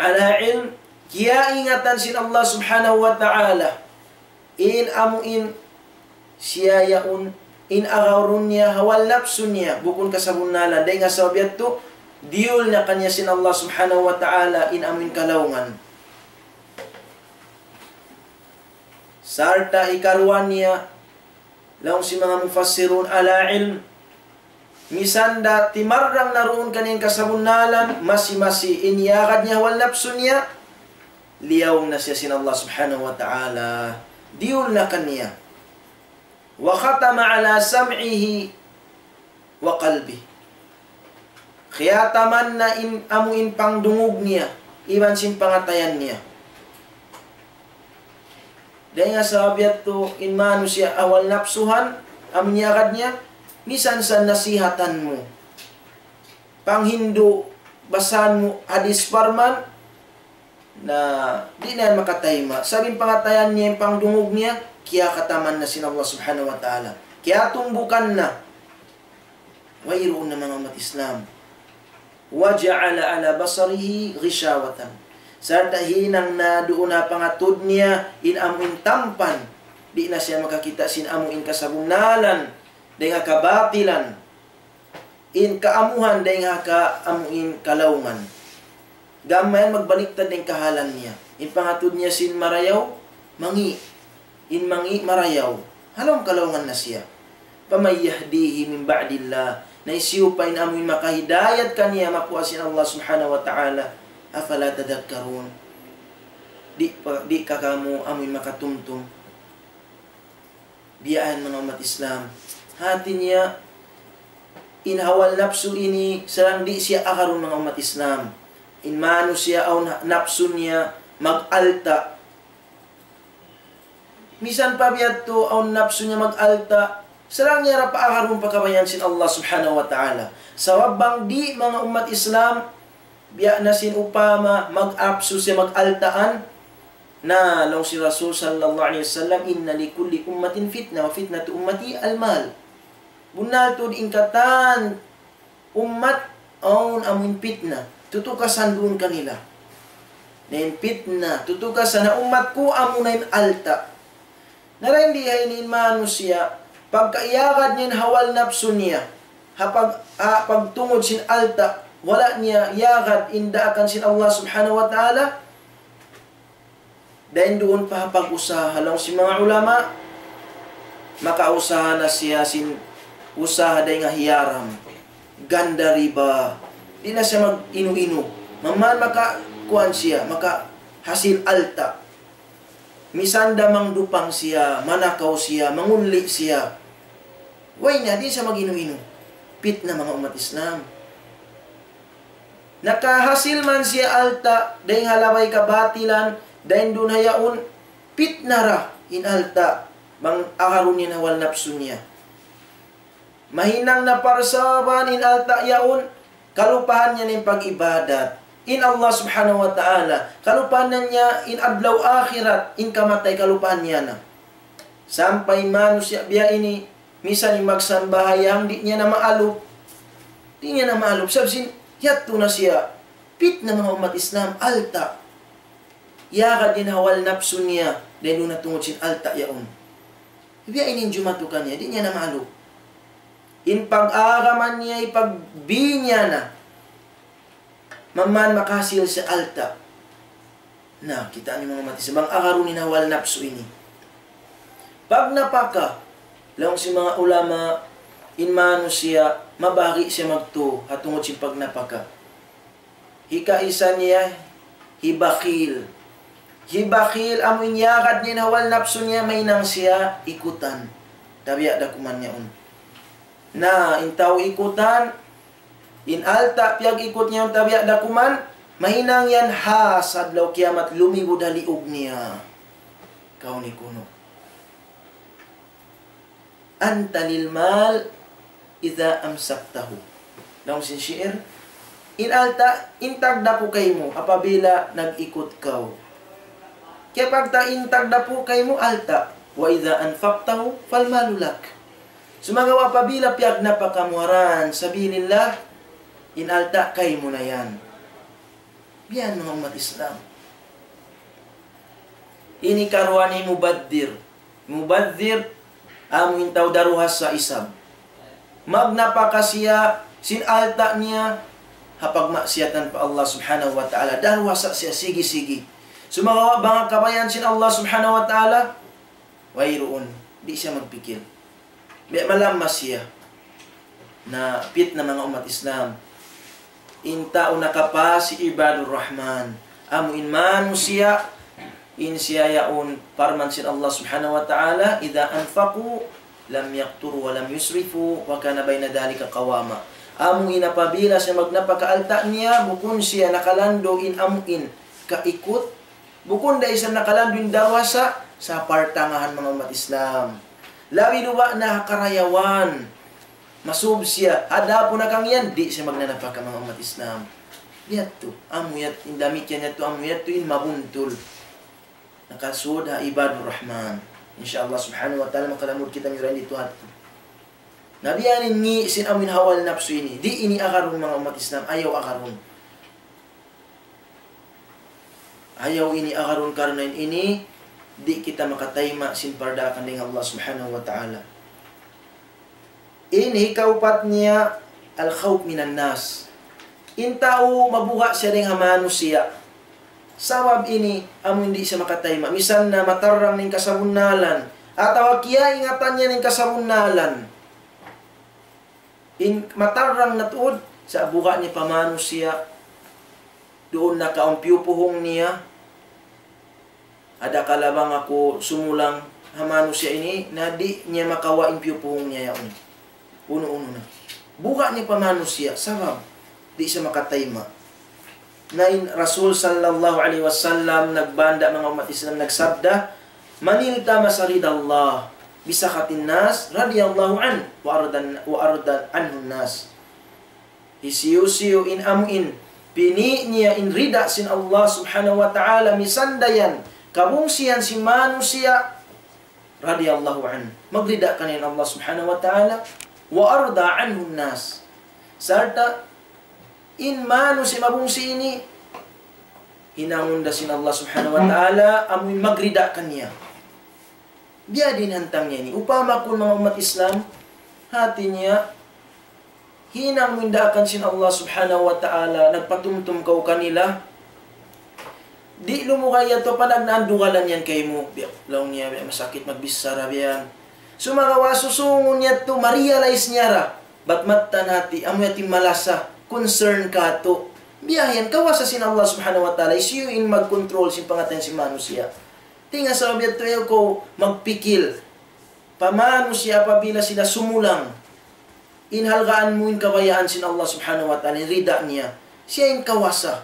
Ala ilm, kiyaingatan sin Allah Subhanahu wa Ta'ala in amu in siya yaun, in agarun niya ha wal napsu niya, bukun kasabunnalan, dayn ha sabab yadtu, diyul na kaniya sin Allah Subhanahu wa Ta'ala in amu in kalaungan. Sarta' hikaruwa niya, laung sin manga mufassirun, ala ilm, misan da timarrang na duun kaniya in kasabunnalan, masi-masi in iyagad niya ha wal napsu niya, liyaung na siya sin Allah Subhanahu wa Ta'ala. Diyul na kaniya. وختم على سمعه وقلبه. Khiyataman na in amu in pangdungug niya, iban sin pangatayan niya. Dayn ha sabab yadtu in manusiya' ha wal napsuhan, amu in iyagad niya, misan sa nasihatan mu. Panghindu', basahan mu hadis parman, na di' na yan makatayma'. Sabab in pangatayan niya, in pangdungug niya, kiyakataman na sin Allah Subhanahu wa Ta'ala. Kiyatumbukan na. Wayruun na manga ummat Islam. وجعل على بصره غشاوة. Sarta' hinang na duun ha pangatud niya in amu in tampan. Di' na siya makakita' sin amu in kasabunnalan, dayn ha kabatilan. In kaamuhan dayn ha ka amu in kalaungan. Gam mayan magbaliktad in kahalan niya. In pangatud niya sin marayaw, mangi'. In mangi' marayaw. Ha lawm kalaungan na siya. فمن يهديه من بعد الله. Na hisiyu pa in amu in makahidayat kaniya makuha sin Allah Subhanahu wa Ta'ala. أفلا تذكرون. Di' pa, di' ka kamu amu in makatumtum. Biya' yan manga ummat Islam. Hati niya, in ha wal napsu ini, sarang di' siya agarun manga ummat Islam. In manusiya' awn napsu niya mag-alta'. Misan pa biya' tu awn napsu niya mag-alta', sarang niya ra paagarun pa kabayaan sin Allah Subhanahu wa Ta'ala. Sabab bang di' manga ummat Islam, biya' na sin upama mag-apsu siya mag-altaan, na laung sin Rasul sallallahu alayhi wasallam, إن لكل أمة فتنة وفتنة أمتي المال. Bunnal tuud in katan ummat awn amu in pitna. Tutukasan duun kanila. Na in pitna, tutukasan ha ummat ku amu na in alta'. Na dayn di ha ini in manusiya', pagka iyagad niya in ha wal napsu niya, ha pag-, ha pagtungud sin alta', wala' niya iyagad in daakan sin Allah Subhanahu wa Ta'ala, dayn duun pa ha pag-usaha, laung sin manga ulama, makausaha na siya sin usaha dayn ha hiyaram, ganda riba, di' na siya mag-inu-inu, maman maka-, kuwan siya, makahasil alta'. Misan da mangdupang siya, manakaw siya, manguli' siya. Way na, di' siya mag-inu-inu. Pitna manga ummat Islam. Nakahasil man siya alta', dayn ha labay kabatilan, dayn duun ha yaun, pitna ra in alta', bang agarun niya in ha wal napsu niya. Mahinang na parsababan in alta' yaun, kalupahan niya na in pag-ibadat. In Allah Subhanahu wa Ta'ala, kalupahan na niya in adlaw akhirat, in kamatay kalupahan niya na. Sampay manusiya' biya' ini, misan in magsambahayang, di' niya na maalup. Di' niya na maalup. Sabab sin, yadtu na siya. Pitna manga ummat Islam, alta'. Iyagad in ha wal napsu niya, dayn duun na tungud sin alta' yaun. Biya' ini in jumatu kaniya, di' niya na maalup. In pag-agama niya, ipagbi niya na. Maman makahasil siya alta'. Na, kita' niyu manga ummat Islam, bang agarun in ha wal napsu ini. Pagnapaka, laung sin manga ulama, in manusiya', mabahagi' siya magtū, ha tungud sin pagnapaka. Hikaisa niya, hibakhil. Hibakhil, amu in iyagad niya in ha wal napsu niya, mahinang siya ikutan. Tabiya' da kuman niya yaun. Na, in tau ikutan, in alta' piyag-ikut niya yaun tabiya' da kuman, mahinang yan ha adlaw kiyamat lumibud ha liug niya. Kaw ni kunu'. أنت للمال إذا أمسكته. Laung sin shi'ir, in alta', in tagdapu kaymu, apabila nag-ikut kaw. Kaya pagta in tagdapu kaymu, alta'. وإذا أنفقته فالمال لك. Sumagawa' apabila piyagnapaka mu ha dan sabilillah, in alta' kaymu na yan. Yan, manga ummat Islam. Ini karuwa ni mubadhir. Mubadhir, amu in tau daruhasa isab. Magnapaka siya sin alta' niya ha pagmaksiyatan pa Allah Subhanahu wa Ta'ala. Daruhasa siya, sigi-sigi. Sumagawa' bang ha kabayaan sin Allah Subhanahu wa Ta'ala, wayruun. Di' siya magpikil. Biya' malamma siya. Na pitna, manga ummat Islam. In tau nakapas hi Ibadur Rahman. Amu in manusiya', in siya yaun parman sin Allah Subhanahu wa Ta'ala, إذا أنفقوا لم يقتروا ولم يسرفوا وكان بين ذلك قواما. Amu in apabila siya magnapaka alta' niya, bukun siya nakalandu' in amu in kaikut, bukun da isab nakalandu' in daruhasa, sa' partangahan, manga ummat Islam. Labi luba' na ha karayawan. Masub siya, adapun na kang yan, di' siya magnanapaka, manga ummat Islam. Yadtu, amu yadtu, in damikkiyan yadtu, amu yadtu, in mabuntul. Nakasud ha Ibadur Rahman. Insya Allah Subhanahu wa Ta'ala, makalamud kita miyura in didtu hati. Na biya' ini sin amu in hawa napsu ini. Di' ini agarun, manga ummat Islam, ayaw agarun. Ayaw ini agarun karna' in ini, di' kita makatayma' sin pardaakan dayn ha Allah Subhanahu wa Ta'ala. In hikaupat niya, الخوف من الناس. In tau mabuga' siya dayn ha manusiya'. Sabab ini, amu in di' siya makatayma'. Misan na matarrang in kasabunnalan. Atawa kiyaingatan niya in kasabunnalan. In matarrang na tuud, sa' buga' niya pa manusiya'. Duun na kaw in piyupuhung niya. Adakala bang aku sumulang ha manusiya' ini, na di' niya makawa' in piyupuhung niya yaun. Unu-unu na. Buga' niya pa manusiya', sabab di' siya makatayma'. Na in Rasul sallallahu alayhi wasallam nagbanda', manga ummat Islam, nagsabda, من التمس رضا الله بسخط الناس رضي الله عنه وأرضى، وأرضى عنه الناس. Hisiyu-siyu in amu in pini' niya in rida sin Allah Subhanahu wa Ta'ala, misan da yan kabungsihan sin manusiya', radiyallahu anhu. Magrida kaniya in Allah Subhanahu wa Ta'ala, وأرضى عنه الناس. Sarta' in manusiya' mabungsi ini, hinangun da sin Allah Subhanahu wa Ta'ala, amu in magrida kaniya. Biya' diin hantang niya ini. Upama kunu', manga ummat Islam, hati niya, hinang mu in daakan sin Allah Subhanahu wa Ta'ala, nagpatumtum kaw kanila. Di' lumugay yadtu panagnaan dugalan yan kaymu. Biya', laung niya, biya' masakit magbichara biya' yan. Sumagawa' susungun yadtu, ma-realize niya ra. Bat mattan hati, amu yadtu in malasa, concern katu'. Biya' yan, kawasa sin Allah Subhanahu wa Ta'ala, hisiyu in mag-control sin pangatayan sin manusiya'. Tinga sabab yadtu ayaw kaw magpikil. Pa manusiya' apabila sila sumulang, in halgaan mu in kabayaan sin Allah Subhanahu wa Ta'ala, in rida niya. Siya in kawasa.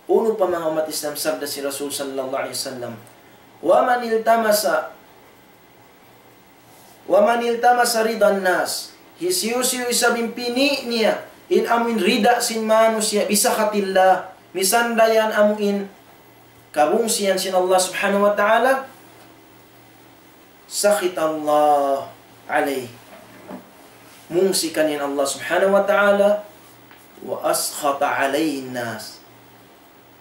Unu pa, manga ummat Islam, sabda sin Rasul sallallahu alayhi wasallam, ومن التمس، ومن التمس رضا الناس. Hisiyu-siyu isab in pini' niya in amu in rida sin manusiya', بسخط الله, misan da yan amu in kabungsihan sin Allah Subhanahu wa Ta'ala, سخط الله عليه. Mungsi kaniya in Allah Subhanahu wa Ta'ala, وأسخط عليه الناس.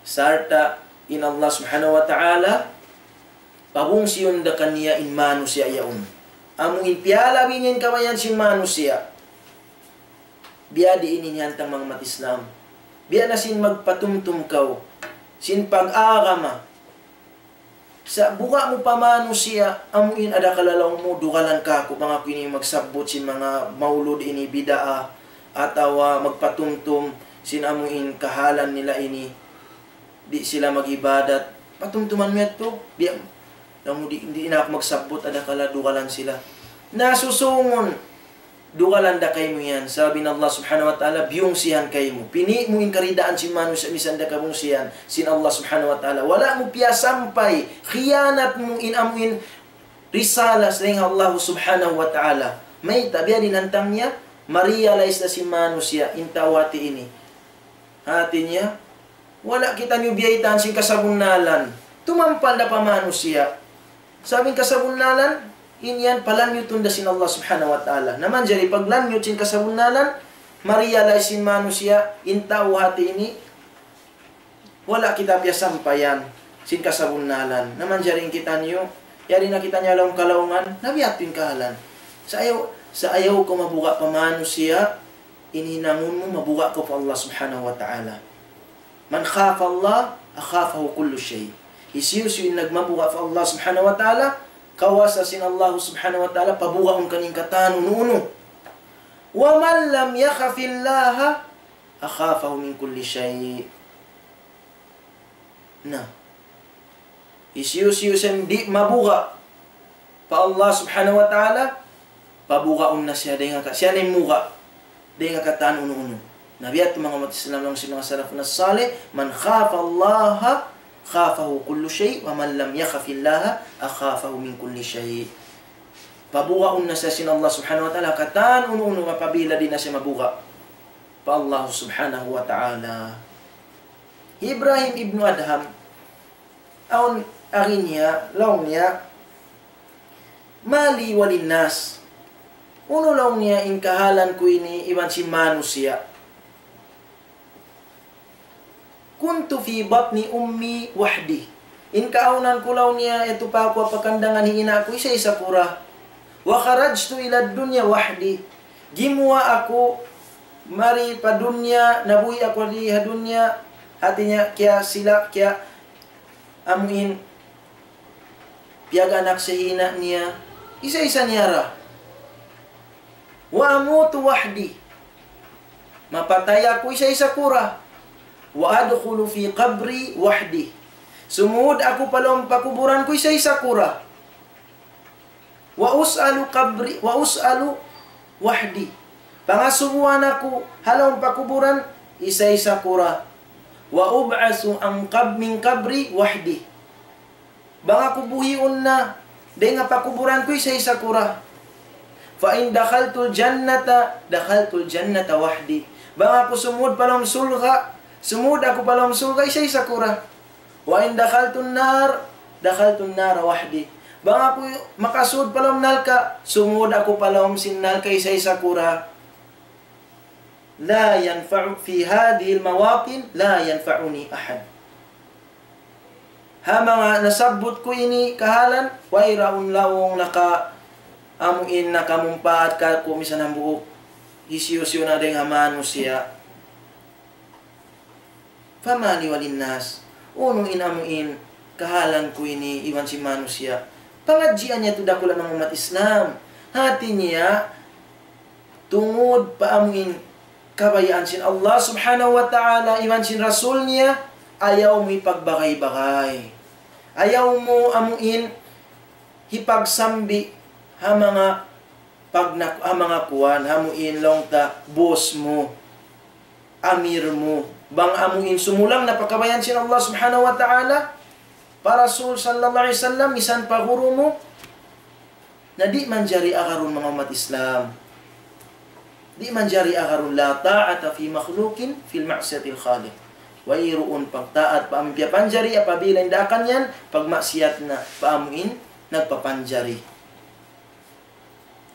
Sarta' in Allah Subhanahu wa Ta'ala, pabungsihun da kaniya in manusiya' yaun. Amu in piyalabi niya in kabayaan sin manusiya'. Biya' diin ini hantang, manga ummat Islam. Biya' na sin magpatumtum kaw sin pag-agama. Sa' buga' mu pa manusiya', amu in adakala laung mu, dugalan kaku', bang aku ini magsabbut sin manga maulud ini bid'ah, atawa magpatumtum sin amu in kahalan nila ini, di' sila mag-ibadat. Patumtuman mu yadtu, biya', laung mu, di', di' na aku magsabbut, adakala dugalan sila. Na susungun, dugalan da kaymu yan. Sabab in Allah Subhanahu wa Ta'ala, biyungsihan kaymu. Pini' mu in karidaan sin manusiya', misan da kabungsihan sin Allah Subhanahu wa Ta'ala. Wala' mu piyasampay, khiyanat mu in amu in risala sin Allah Subhanahu wa Ta'ala. Mayta', biya' diin hantang niya, ma-realize na sin manusiya', in tau hati ini. Hati niya, wala' kitaniyu biyaytaan sin kasabunnalan. Tumampal da pa manusiya'. Sabab in kasabunnalan, in yan palanyutun da sin Allah Subhanahu wa Ta'ala. Na manjari paglanyut sin kasabunnalan, ma-realize sin manusiya', in tau hati ini, Wala' kita piyasampayan sin kasabunnalan. Na manjari in kitaniyu, yari na kitaniyu ha lawm kalaungan, na biya' ha yan in kahalan. Sa' ayaw, sa' ayaw kaw mabuga' pa manusiya', in hinangun mu mabuga' kaw pa Allah Subhanahu wa Ta'ala. من خاف الله أخافه كل شيء. Hisiyu-siyu in nagmabuga' pa Allah Subhanahu wa Ta'ala, kawasa sin Allah Subhanahu wa Ta'ala pabugaun kaniya in katan unu-unu. ومن لم يخف الله أخافه من كل شيء. Na, hisiyu-siyu sin di' mabuga' pa Allah Subhanahu wa Ta'ala, pabugaun na siya dayn ha ka-, siya na in muga' dayn ha katan unu-unu. Na biya' ha yan manga ummat Islam, laung sin manga salafun salih, من خاف الله خافه كل شيء، ومن لم يخف الله أخافه من كل شيء. Pabugaun na siya sin Allah Subhanahu wa Ta'ala ha katan unu-unu, apabila di' na siya mabuga' pa Allah Subhanahu wa Ta'ala. Ibrahim ibnu Adham, awn agi niya, laung niya, ما لي وللناس. Unu, laung niya, in kahalan ku ini iban sin manusiya'. كنت في بطن أمي وحدي. In kaawnan ku, laung niya, yadtu pa aku ha pakandangan hi ina' ku, isa-isa ku ra. وخرجت إلى الدنيا وحدي. Gimuwa' aku mari pa dunya, nabuhi' aku di ha dunya, hati niya, kiya sila, kiya amuin piyag-anak sin ina' niya, isa-isa niya ra. وأموت وحدي. Mapatay aku, isa-isa ku ra. وأدخل في قبري وحدي. Sumud aku pa lawm pakuburan ku, isa-isa ku ra. وأسأل قبري، وأسأل وحدي. Pangasubuhan aku ha lawm pakuburan, isa-isa ku ra. وأبعث عن قب-، من قبري وحدي. Bang aku buhiun na dayn ha pakuburan ku, isa-isa ku ra. فإن دخلت الجنة دخلت الجنة وحدي. Bang aku sumud pa lawm surga', sumud aku pa lawm surga', isa-isa ku ra. وإن دخلت النار دخلت النار وحدي. Bang aku makasud pa lawm narka', sumud aku pa lawm sin narka', isa-isa ku ra. لا ينفع، في هذه المواطن لا ينفعني أحد. Ha manga nasabbut ku ini kahalan, wayruun laung naka-, amuin nakamumpaat kāku' misan hambuuk. Hisiyu-siyu na dayn ha manusiya'. فما لي وللناس. Unu in amuin kahalan ku ini iban sin manusiya'. Pangadjian niya tuud aku, laung, manga ummat Islam. Hati niya, tungud pa amuin kabayaan sin Allah Subhanahu wa Ta'ala iban sin Rasul niya, ayaw mu hipagbagay-bagay. Ayaw mu amuin hipagsambi' ha manga pagnak-, ha manga kuwan, amuin laung ta boss mu, amir mu. Bang amuin sumulang na pa kabayaan sin Allah Subhanahu wa Ta'ala, pa Rasul sallallahu alayhi wasallam, misan pa guru mu, na di' manjari agarun, manga ummat Islam. Di' manjari agarun. لا طاعة في مخلوق في معصية الخالق. Wayruun pagtaat pa amuin piyapanjari apabila in daakan yan pagmaksiyat na pa amuin nagpapanjari.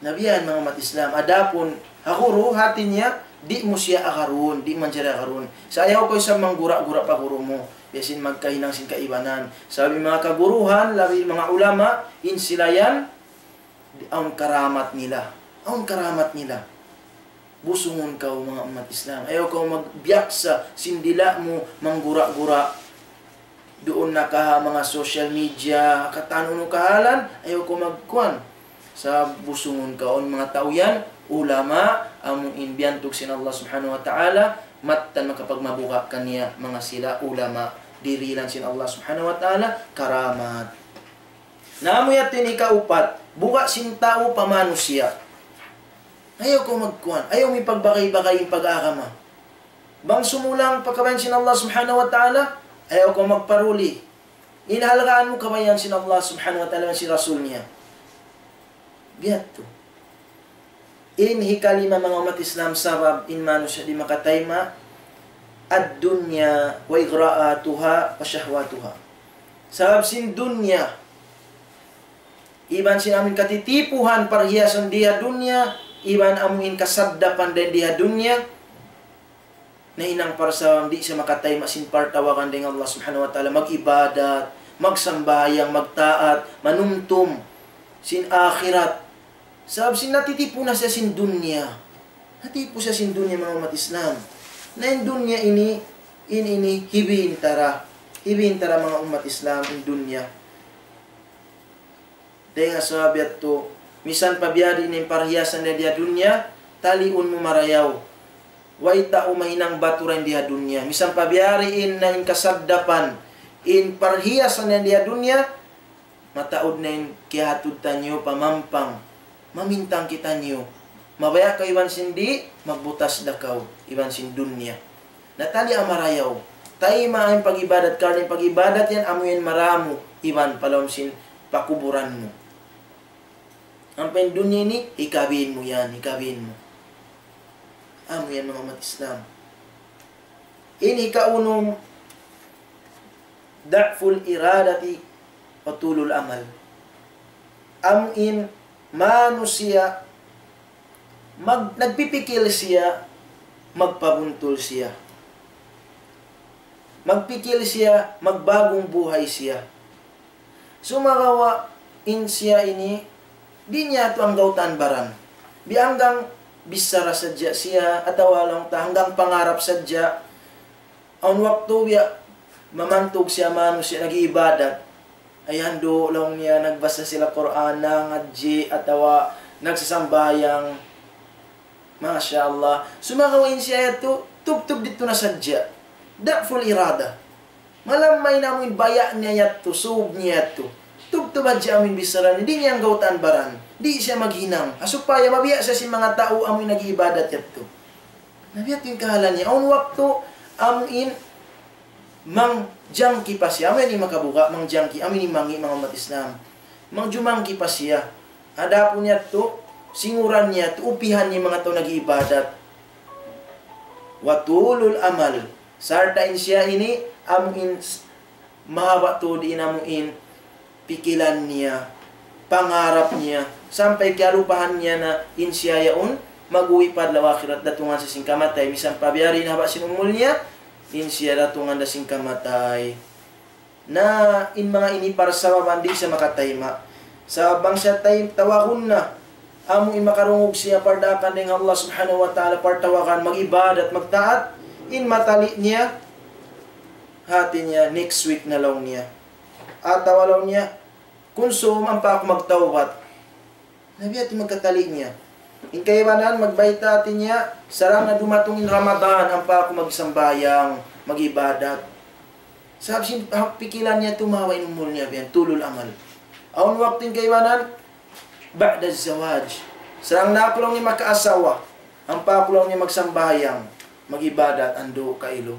Na biya' yan, manga ummat Islam. Adapun ha guru, hati niya, di' mu siya agarun, di' manjari agarun. Sa' ayaw kaw isab manggura-gura pa guru mu. Biya' sin magkahinang sin kaibanan. Sabab in manga kaguruhan, labi manga ulama, in sila yan, di-, awn karamat nila. Awn karamat nila. Busungun kaw, manga ummat Islam. Ayaw kaw magbiyaksa sin dila' mu manggura-gura. Duun na ka ha manga social media, katan unu kahalan, ayaw kaw magkuwan. Sa' busungun kaw, awn manga tau yan, ulama, amuin biyantug sin Allah Subhanahu wa Ta'ala, mattan makapagmabuga' kaniya, manga sila ulama, dirihilan sin Allah Subhanahu wa Ta'ala karamat. Na amu yadtu in ikaupat, buga' sin tau pa manusiya'. Ayaw kaw magkuwan, ayaw mu hipagbagay-bagay in pag-agama. Bang sumulang pa kabayaan sin Allah Subhanahu wa Ta'ala, ayaw kaw magparuli. In halgaan mu kabayaan sin Allah Subhanahu wa Ta'ala iban sin Rasul niya. Biya' yadtu. In hikalima, manga ummat Islam, sabab in manusiya' di' makatayma', الدنيا وإغراءاتها وشهواتها. Sabab sin dunya, iban sin amuin katitipuhan, parhiyasan di ha dunya, iban amuin kasaddapan dayn di ha dunya, nahinang parsababan di' siya makatayma' sin partawagan dayn ha Allah Subhanahu wa Ta'ala, mag-ibadat, magsambahayang, magtaat, manumtum sin akhirat. Sabab sin natitipu na siya sin dunya. Natipu siya sin dunya, manga ummat Islam. Na in dunya ini, in ini, hibintara. Hibintara, manga ummat Islam, in dunya. Dayn ha sabab yadtu, misan pa biya' diin in parhiyasan niya di ha dunya, taliun mu marayaw. Way tau mahinang batu dayn di ha dunya. Misan pa biya' diin na in kasagdapan, in parhiyasan niya di ha dunya, mataud na in kiyahatud taniyu pa mampang, mamintang kitaniyu. Mabaya' kaw iban sin di', magbutas da kaw iban sin dunya. Na tali' marayaw. Taymaun in pag-ibadat, karna' in pag-ibadat yan, amu yan maramu, iban pa lawm sin pakuburan mu. Ampa in dunya ini, hikabin mu yan, hikabin mu. Amu yan, manga ummat Islam. In hikaunum, ضعف الإرادة وطول الأمل. Amu in manusiya', mag-, nagpipikil siya, magpabuntul siya. Magpikil siya, magbagong buhay siya. Sumagawa' in siya ini, di' niya tu anggawtaan baran. Biya' hanggang bichara sadja siya, atawa laung ta hanggang pangarap sadja. Awn waktu biya' mamantug siya manusiya' nag-iibadat. Ayan, du, laung niya, nagbasa sila Qur'an, nangadji', atawa nagsasambahayang. Masha Allah. Sumagawa' in siya yadtu, tubtub didtu na sadja. ضعف الإرادة. Malamma in amu in baya' niya yadtu, sūb niya yadtu. Tubtub hadja amu in bichara niya, di' niya anggawtaan baran. Di' siya maghinang. Ha supaya mabiya' siya sin manga tau amu in nag-iibadat yadtu. Na biya' ha yan in kahalan niya. Awn waktu, amu in mangjangki pa siya. Amu yan in makabuga', mangjangki. Amu in mangi', manga ummat Islam. Mangjumangki pa siya. Adapun yadtu, singuran niya, tuupihan niya manga tau nag-iibadat. وطول الأمل. Sarta' in siya ini, amu in s-, mahaba' tuud in amu in pikilan niya, pangarap niya, sampay kiyalupahan niya na in siya yaun, mag-uwi' pa adlaw akhirat, datungan siya sin kamatay, misan pa biya' diin haba' sin umul niya, in siya datungan da sin kamatay. Na in manga ini parsababan di' siya makatayma'. Sabab bang siya tay-, tawagun na, amu in makarungug siya pardaakan dayn ha Allah Subhanahu wa Ta'ala, partawagan, mag-ibadat, magtaat, in matali' niya, hati niya, next week na laung niya. Atawa laung niya, kunsum ampa aku magtawbat. Na biya' ha yan in magkatali' niya. In kaibanan, magbayta' hati niya, sarang na dumatung in Ramadan, ampa aku magsambahayang, mag-ibadat. Sabab sin, ha, pikilan niya tumawa' in umul niya, biya' yan, طول الأمل. Awn waktu in kaibanan, بعد الزواج. Sarang na aku laung niya makaasawa, ampa aku laung niya magsambahayang, mag-ibadat, andu' kailu.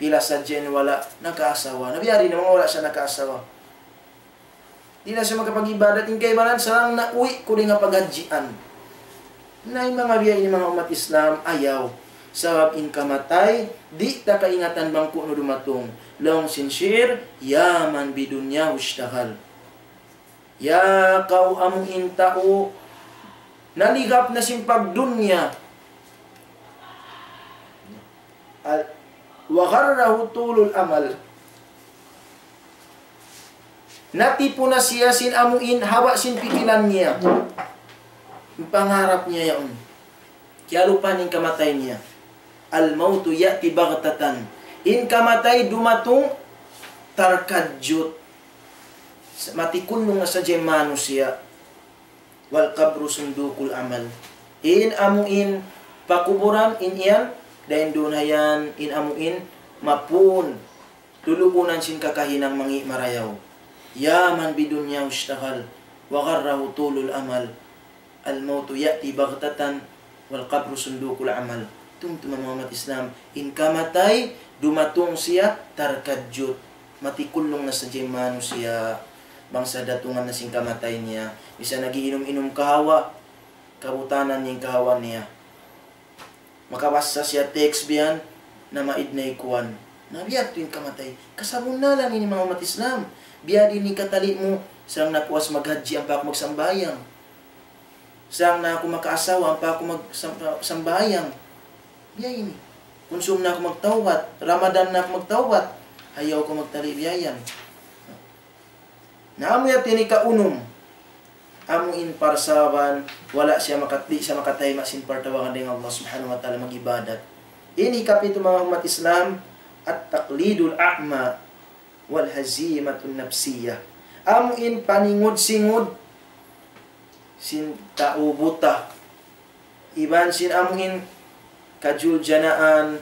Pila sadja in wala' nakaasawa. Na biya' diin na manga wala' sa nakaasawa. Di' na siya makapag-ibadat, in kaibanan, sarang na uwi' ku dayn ha paghadjian. Na in manga biya' ini, manga ummat Islam, ayaw. Sabab in kamatay, di' ta kaingatan bang ku'nu dumatung. Laung sin shi'r, يا من بدنياه اشتغل. Ya kaw amu in tau, naligap na sin pagdunya. Al-, وغره طول الأمل. Natipu na siya sin amu in haba' sin pikilan niya. In pangarap niya yaun. Kiyalupahan in kamatay niya. الموت يأتي بغتة. In kamatay dumatung tarkadjut. Sa-, matikunlung na sadja in manusiya'. والقبر صندوق الأمل. In amu in pakuburan in yan, dayn duun ha yan, in amu in mapun, lulukunan sin kakahinang mangi' marayaw. يا من بدنياه اشتغل وغره طول الأمل. الموت يأتي بغتة والقبر صندوق الأمل. Tumtuma manga ummat Islam, in kamatay, dumatung siya, tarkadjut. Matikunlung na sadja in manusiya', bang sa datungan na sin kamatay niya. Misan nag-iinum-inum kahawa, kabutanan niya in kahawa niya. Makabasa siya text biya' yan, na maid na ikuan. Na biya' ha yan in kamatay. Kasabunnalan ini manga ummat Islam. Biya' diin in katali' mu, sarang na aku maghadji ampa aku magsambahayang. Sarang na aku makaasawa ampa aku magsam-, sambahayang. Biya' ini. Kunsum na aku magtawbat, Ramadan na aku magtawbat, ayaw kaw magtali' biya' yan. Na amu yadtu in hikaunum, amu in parsababan, wala' siya makat-, di' siya makatayma' sin partawagan dayn ha Allah Subhanahu wa Ta'ala mag-ibadat. In hikapitu manga ummat Islam, التقليد الأعمى والهزيمة النفسية. Amu in paningud-singud sin tau buta. Iban sin amu in kajuljanaan,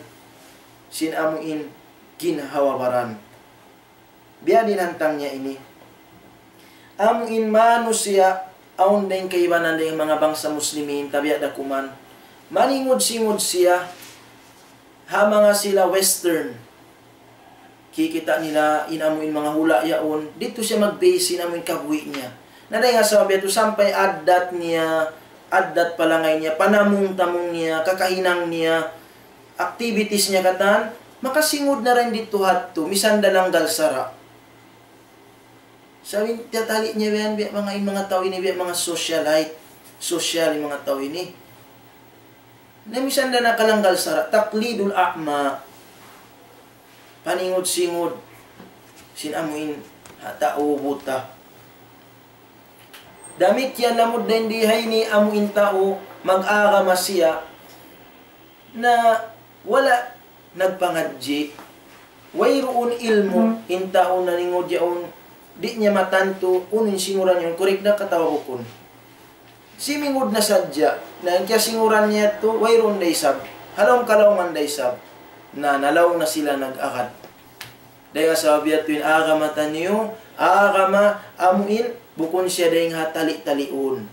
sin amu in ginhawa-baran. Biya' diin hantang niya ini. Amu in manusiya', awn dayng kaibanan dayng manga bangsa Muslimin, tabiya' da kuman. Maningud-singud siya, ha manga sila Western. Kikita' nila in amu in manga hula' yaun, didtu siya mag-base in amu in kabuhi' niya. Na dayng ha sabab yadtu sampay addat niya, addat palangay niya, panamung-tamung niya, kakahinang niya, activities niya katan, makasingud na dayn didtu hadtu, misan da langgal sara'. Sabab in tiyatali' niya biya' yan, biya' manga in manga tau ini, biya' manga socialite, social in manga tau ini. Na misan da nakalanggal sara', تقليد الأعمى. Paningud-singud sin amu in ha tau buta. Damikkiyan lamud dayn di ha ini amu in tau mag-agama siya na wala' nagpangadji', wayruun ilmu', in tau naningud yaun, di' niya matantu, unu in singuran yaun, correct da ka atawa bukun. Simingud na sadja, na in kiyasinguran niya yadtu, wayruun da isab, ha lawm kalaungan da isab, na nalaw na sila nag-agad. Dayng ha sabab yadtu in agama taniyu, agama amu in, bukun siya dayng ha tali-taliun.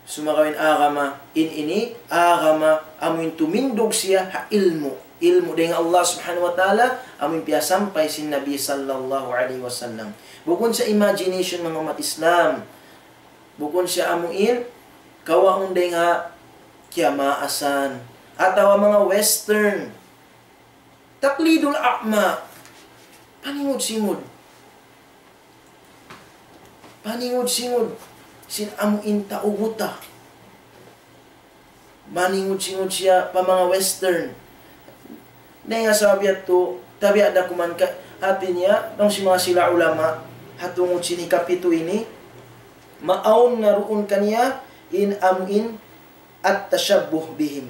Sumagawa' in agama in ini, agama amu in tumindug siya ha ilmu'. Ilmu' dayng ha Allah Subhanahu wa Ta'ala, amu in piyasampay sin Nabi sallallahu alayhi wasallam. Bukun siya imagination, manga ummat Islam. Bukun siya amu in kawaun dayng ha kiyamaasan atawa manga Western. تقليد الأعمى. Paningud-singud. Paningud-singud sin amu in tau buta. Maningud-singud siya pa manga Western. Dayng ha sabab yadtu, tabiya' da kuman ka, hati niya, laung sin manga sila ulama, ha tungud sin hikapitu ini, maawn na duun kaniya in amu in التشبه بهم.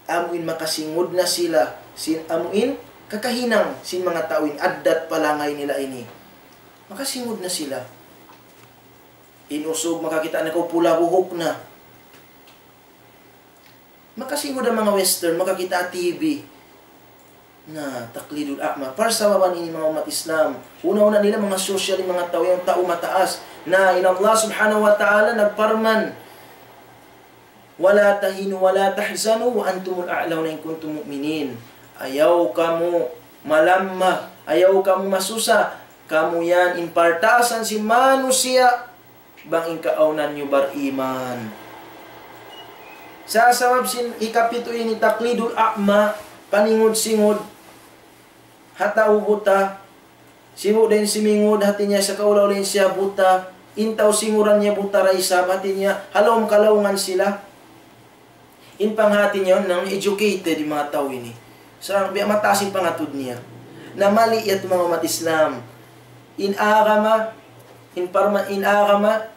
Amu in makasingud na sila sin amu in kakahinang sin manga tau in addat palangay nila ini. Makasingud na sila. In usug makakita' na kaw pula buhuk na. Makasingud na manga Western, makakita' ha T V. Na, تقليد الأعمى. Parsababan ini manga ummat Islam. Una-una nila manga social in manga tau yan, tau mataas. Na, in Allah Subhanahu wa Ta'ala nagparman, ولا تهنوا ولا تحزنوا وأنتم الأعلون إن كنتم مؤمنين. Ayaw kamu malamma, ayaw kamu masusa, kamu yan in partaasan sin manusiya', bang in kaawnan niyu bariman. Sa' sabab sin hikapitu ini, تقليد الأعمى, paningud-singud ha tau buta. Sibu' da in simingud, hati niya, sakaula-ula in siya buta. In tau singuran niya buta da isab, hati niya, ha lawm kalaungan sila. In panghati niya, nang educated in manga tau ini. Sa' biya' mataas in pangatud niya. Na mali yadtu manga ummat Islam. In agama, in parma-, in agama,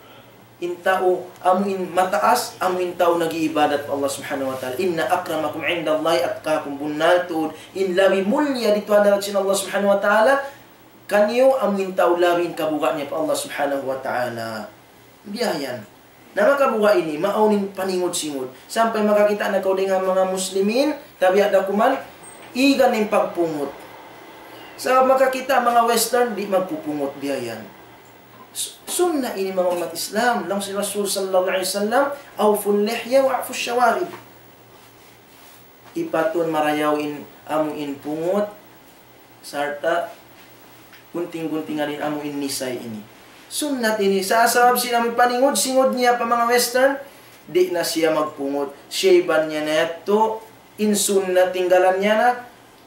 in tau, amu in mataas, amu in tau nag-iibadat pa Allah Subhanahu wa Ta'ala. إن أكرمكم عند الله أتقاكم. Bunnal tuud, in labi mulliya didtu ha hadarat sin Allah Subhanahu wa Ta'ala, kaniyu amu in tau labi in kabuga' niya pa Allah Subhanahu wa Ta'ala. Biya' yan. Na makabuga' ini, maawn in paningud-singud. Sampay makakita' na kaw dayn ha manga Muslimin, tabiya' da kuman, igan in pagpungut. Sa' makakita' manga Western, di' magpupungut, biya' yan. Su-, sunna ini manga ummat Islam. Laung sin Rasul sallallahu alayhi wasallam, أوفوا اللحية وأعفوا الشوارب. Ipatun marayaw in amu in pungut, sarta' gunting-guntingan in amu in nisay ini. Sunnat ini, sa' sabab sin amu in paningud-singud niya pa manga Western, di' na siya magpungut. Shave-an niya na yadtu, in sunnat tinggalan niya na,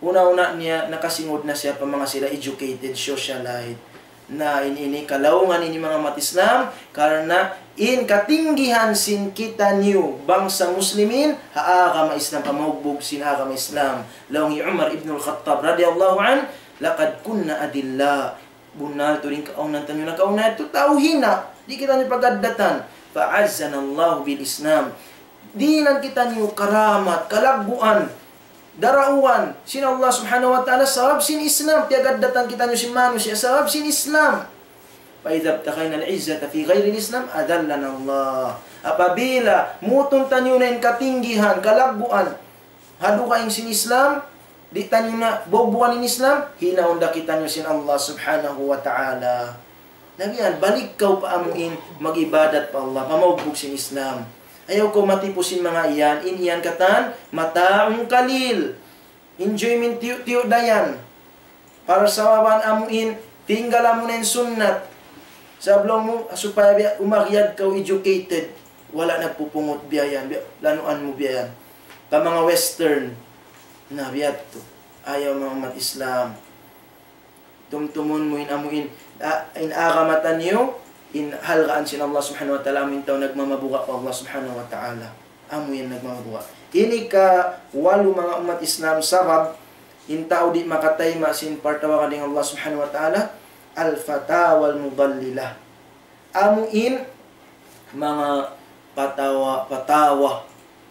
una-una niya nakasingud na siya pa manga sila educated, socialite. Na in ini kalaungan ini manga ummat Islam, karna' in katinggihan sin kitaniyu bangsa Muslimin, ha agama Islam, pamaugbug sin agama Islam. Laung hi Umar ibn al-Khattab radiyallahu anhu, لقد كنا أذلاء. Bunnal tuud in kaawnan taniyu nakauna yadtu tau hina', di' kitaniyu pagaddatan. فأعزنا الله بالإسلام. Dihilan kitaniyu karamat, kalagguan, darauan sin Allah Subhanahu wa Ta'ala sabab sin Islam. Piyagaddatan kitaniyu sin manusiya' sabab sin Islam. فإذا ابتغينا العزة في غير الإسلام أذلنا الله. Apabila mutun taniyu na in katinggihan, kalagguan, ha dugaing sin Islam, di' taniyu na baubugan in Islam, hinaun da kitaniyu sin Allah Subhanahu wa Ta'ala. Na biya' yan, balik kaw pa amuin mag-ibadat pa Allah, pamaugbug sin Islam. Ayaw kaw matipu sin manga yan, in yan katan, متاع قليل. Enjoyment tiyu'-tiyu' da yan. Parsababan amuin, tinggalan mu na in sunnat. Sabab laung mu, supaya biya', umagyad kaw educated. Wala' nagpupungut biya' yan, biya', lanuan mu biya' yan. Pa manga western. Na biya' yadtu. Ayaw manga ummat Islam. Tumtumun mu in amuin, a-, in agama taniyu, in halgaan sin Allah Subhanahu wa Ta'ala, amuin tau nagmamabuga' pa Allah Subhanahu wa Ta'ala. Amu yan nagmamabuga'. Ini kawalu manga ummat Islam sabab, in tau di' makatayma' sin partawagan dayn Allah Subhanahu wa Ta'ala, الفتاوى المضللة. Amuin manga patawa, patawa,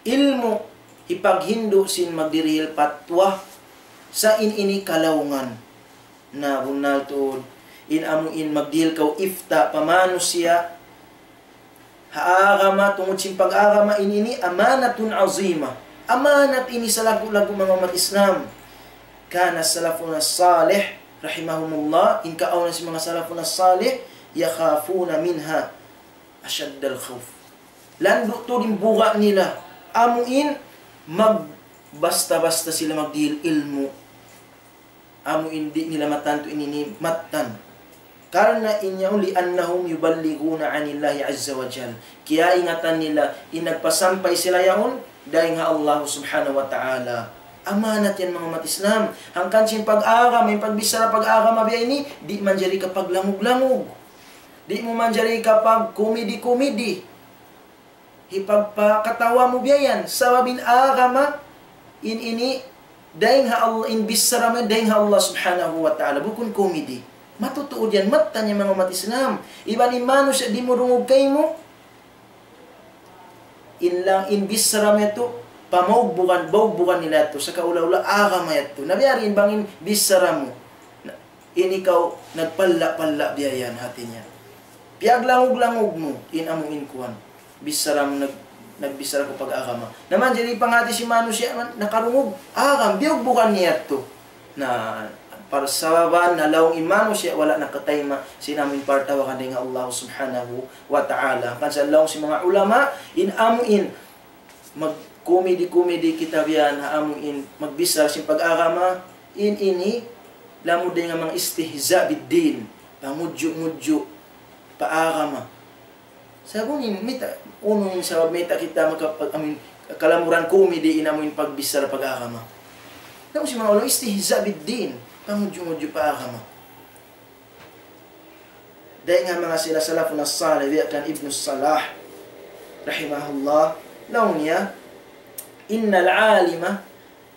ilmu', hipaghindu' sin magdirihil patwa, sa' in ini kalaungan. Na bunnal tuud, in amuin magdihil kaw ifta pa manusiya', ha agama, tungud sin pag-agama in ini, أمانة عظيمة. Amanat ini salaggu'-laggu' manga ummat Islam. كان سلفنا الصالح رحمهم الله, in kaawnan sin manga salafun as-salih, يخافون منها أشد الخوف. Landu' tuud in buga' nila. Amuin magbasta-basta sila magdihil ilmu'. Amuin di' nila matantu in ini mattan. Karna' in yaun, لأنهم يبلغون عن الله عز وجل. Kiyaingatan nila, in nagpasampay sila yaun, dayn ha Allah Subhanahu wa Ta'ala. Amanat yan manga ummat Islam. Hangkan sin pag-agama, in pagbichara pag-agama biya' ini, di' manjari kapaglangug-langug. Di' mu manjari kapagkomedi-komedi. Hipagpakatawa mu biya' yan. Sabab in agama, in ini, dayn ha Allah, in bichara mu yan, dayn ha Allah Subhanahu wa Ta'ala. Bukun komedi. Matutuud yan, mattan yan manga ummat Islam. Iban in manusiya' di' murungug kaymu, in lang, in bichara mu yadtu, pamaugbugan, baugbugan nila yadtu, sa' kaula-ula agama yadtu. Na biya' diin bang in bichara mu. Na, in ikaw nagpalla'-palla' biya' yan hati niya. Piyaglangug-langug mu, in amu in kuwan. Bichara mu nag-, nagbichara kaw pag-agama. Na manjari panghati sin manusiya' man, nakarungug, agama, biyaugbugan niya yadtu. Na, parsababan, na laung in manusiya', wala' nakatayma', sin amu in partawagan dayn ha Allah Subhanahu wa Ta'ala. Hangkan sa laung sin manga ulama, in amu in, magkomedi-komedi kita biya' yan, ha amu in, magbichara sin pag-agama, in ini, lamud dayn ha manga istihza' bid-din, pangudju'-ngudju' pa agama. Sabab ini, mayta', unu in sabab mayta' kita maka-, amu in, kalamuran komedi in amu in pagbichara pag-agama. Laung sin manga ulama, istihza' bid-din, pangudju'-ngudju' pa agama. Dayn ha manga sila salafun as-salih, biya' kan Ibnu Salah, rahimahullah, laung niya, إن العالم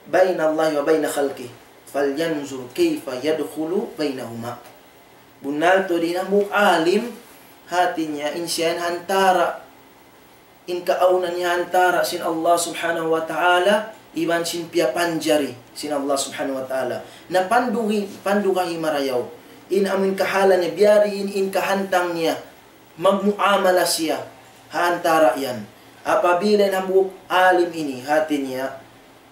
بين الله وبين خلقه، فلينظر كيف يدخل بينهما. Bunnal tuud in hambuuk alim, hati niya, in siya in ha antara', in kaawnan niya ha antara' sin Allah Subhanahu wa Ta'ala, iban sin piyapanjari sin Allah Subhanahu wa Ta'ala. Na pandugi-, pandugahi marayaw. In amu in kahalan niya, biya' diin in kahantang niya, magmuamala siya, ha antara' yan. Apabila in hambuuk alim ini, hati niya,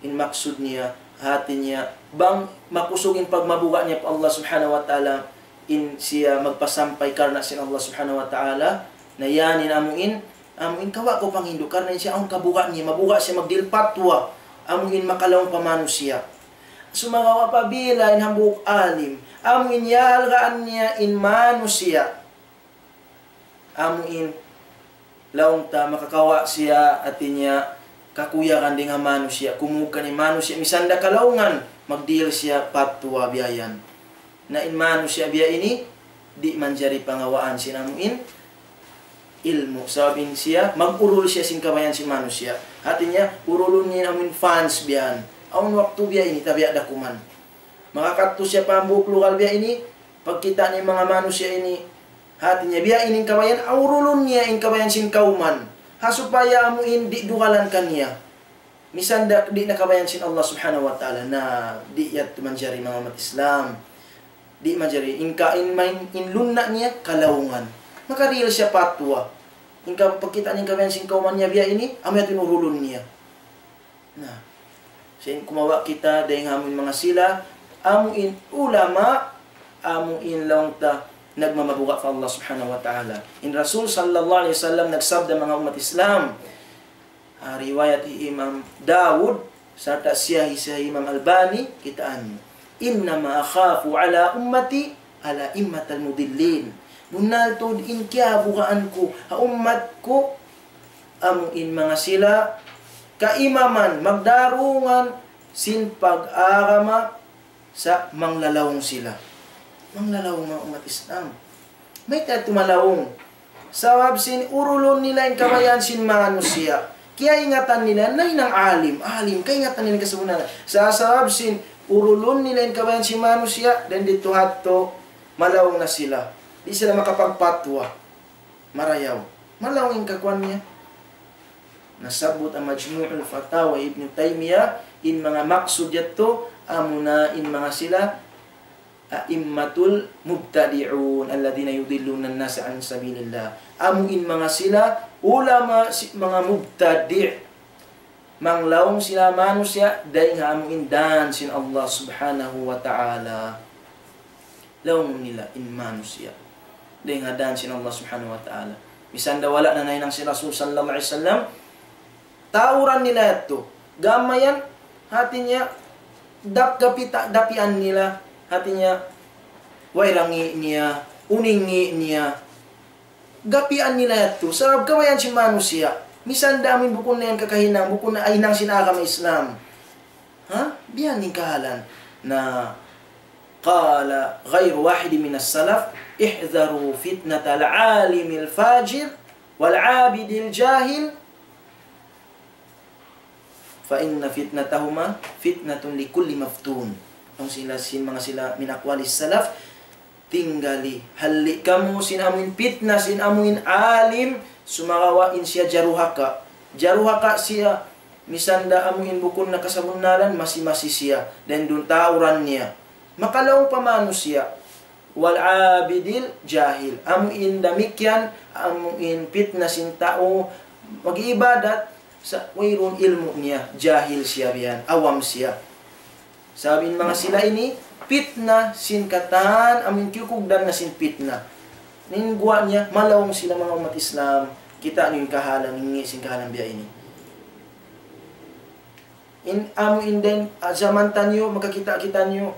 in maksud niya, hati niya, bang makusug in pagmabuga' niya pa Allah Subhanahu wa Ta'ala, in siya magpasampay karna' sin Allah Subhanahu wa Ta'ala, na yan in amu in, amu in kawa' kaw panghindu', karna' in siya awn kabuga' niya, mabuga' siya magdihil patwa, amu in makalaung pa manusiya'. Sumagawa' apabila in hambuuk alim, amu in iyaalgaan niya in manusiya', amu in laung ta makakawa' siya, hati niya, kakuyagan dayn ha manusiya', kumug kan in manusiya', misan da kalaungan, magdihil siya patwa biya' yan. Na in manusiya' biya' ini, di' manjari pangawaan sin amuin ilmu'. Sabab in siya, mag-urul siya sin kabayaan sin manusiya'. Hati niya, urulun niya in amuin fans biya' yan. Awn waktu biya' ini, tabiya' da kuman. Makakadtu siya pa hambuuk lugal biya' ini, pagkita' niya in manga manusiya' ini, hati niya, biya' ini in kabayaan, urulun niya in kabayaan sin kawman. Ha supaya amuin di' dugalan kaniya. Misan da, di' na kabayaan sin Allah Subhanahu wa Ta'ala, na di' yadtu manjari, manga ummat Islam. Di' manjari, in ka, in main, in lunna' niya, kalaungan. Maka real siya patwa. In ka, pagkita' niya in kabayaan sin kawman niya biya' ini, amu yadtu in urulun niya. Na, sin kumawa' kita, dayng ha amuin manga sila, amuin ulama, amuin laung ta, nagmamabuga' pa Allah Subhanahu wa Ta'ala. In Rasul sallallahu alayhi wasallam nagsabda, manga ummat Islam, ah, riwayat hi Imam Dawud, sarta' siya hi, siya hi Imam Albani, kitaan niyu. إنما أخاف على أمتي الأئمة المضلين. Bunnal tuud in kiyabugaan ku, ha ummat ku, amu in manga sila, kaimaman, magdarungan, sin pag-agama, sa' manglalaung sila. Manglalaung, manga ummat Islam. Mayta' tuud malaung? Sabab sin urulun nila in kabayaan sin manusiya'. Kiyaingatan nila, nahinang alim, alim, kaingatan nila in kasabunnalan. Sa' sabab sin urulun nila in kabayaan sin manusiya', dayn didtu hadtu, malaung na sila. Di' sila makapagpatwa. Marayaw. Malaung in kakuan niya. Nasabbut ha Majmu'ul Fatawa Ibn Taymiyyah, in manga maksud yadtu, amuna in manga sila, أئمة المبتدعون الذين يضلون الناس عن سبيل الله. Amu in manga sila, ulama si-, manga mubtadi'. Manglaung sila manusiya', dayng ha amu in dan sin Allah Subhanahu wa Ta'ala. Laung nila in manusiya'. Dayng ha dan sin Allah Subhanahu wa Ta'ala. Misan da wala' na nahinang sin Rasul sallallahu alayhi wasallam, tauran nila yadtu. Gam mayan, hati niya, dap-, gapita-, dapian nila, hati niya, way rangi niya, uningi niya. Gapian nila yadtu. Sabab kabayaan sin manusiya'. Misan da amin bukun na yan kakahinang, bukun na hinang sin agama Islam. Ha? Biya' ini in kahalan. Na, قال غير واحد من السلف: احذروا فتنة العالم الفاجر والعابد الجاهل، فإن فتنتهما فتنة لكل مفتون. Laung sila sin manga sila min aqwalis salaf, tinggali, halli' kamu sin amuin pitna, sin amuin alim, sumagawa' in siya jaruhaka. Jaruhaka siya, misan da amuin bukun na kasabunnalan, masi-masi siya, dayn duun tauran niya. Makalaung pa manusiya'. والعابد الجاهل. Amuin damikkiyan, amuin pitna sin tau mag-iibadat, sa' wayruun ilmu' niya, jahil siya biya' yan, awam siya. Sabab in manga sila ini, pitna sin katan, amuin kiyukugdan na sin pitna. In guwa' niya, malaung sila manga ummat Islam, kita' niyu in kahalan, in ngi' sin kahalan biya' ini. In amuin dayn, ah, jaman taniyu, makakita' kitaniyu,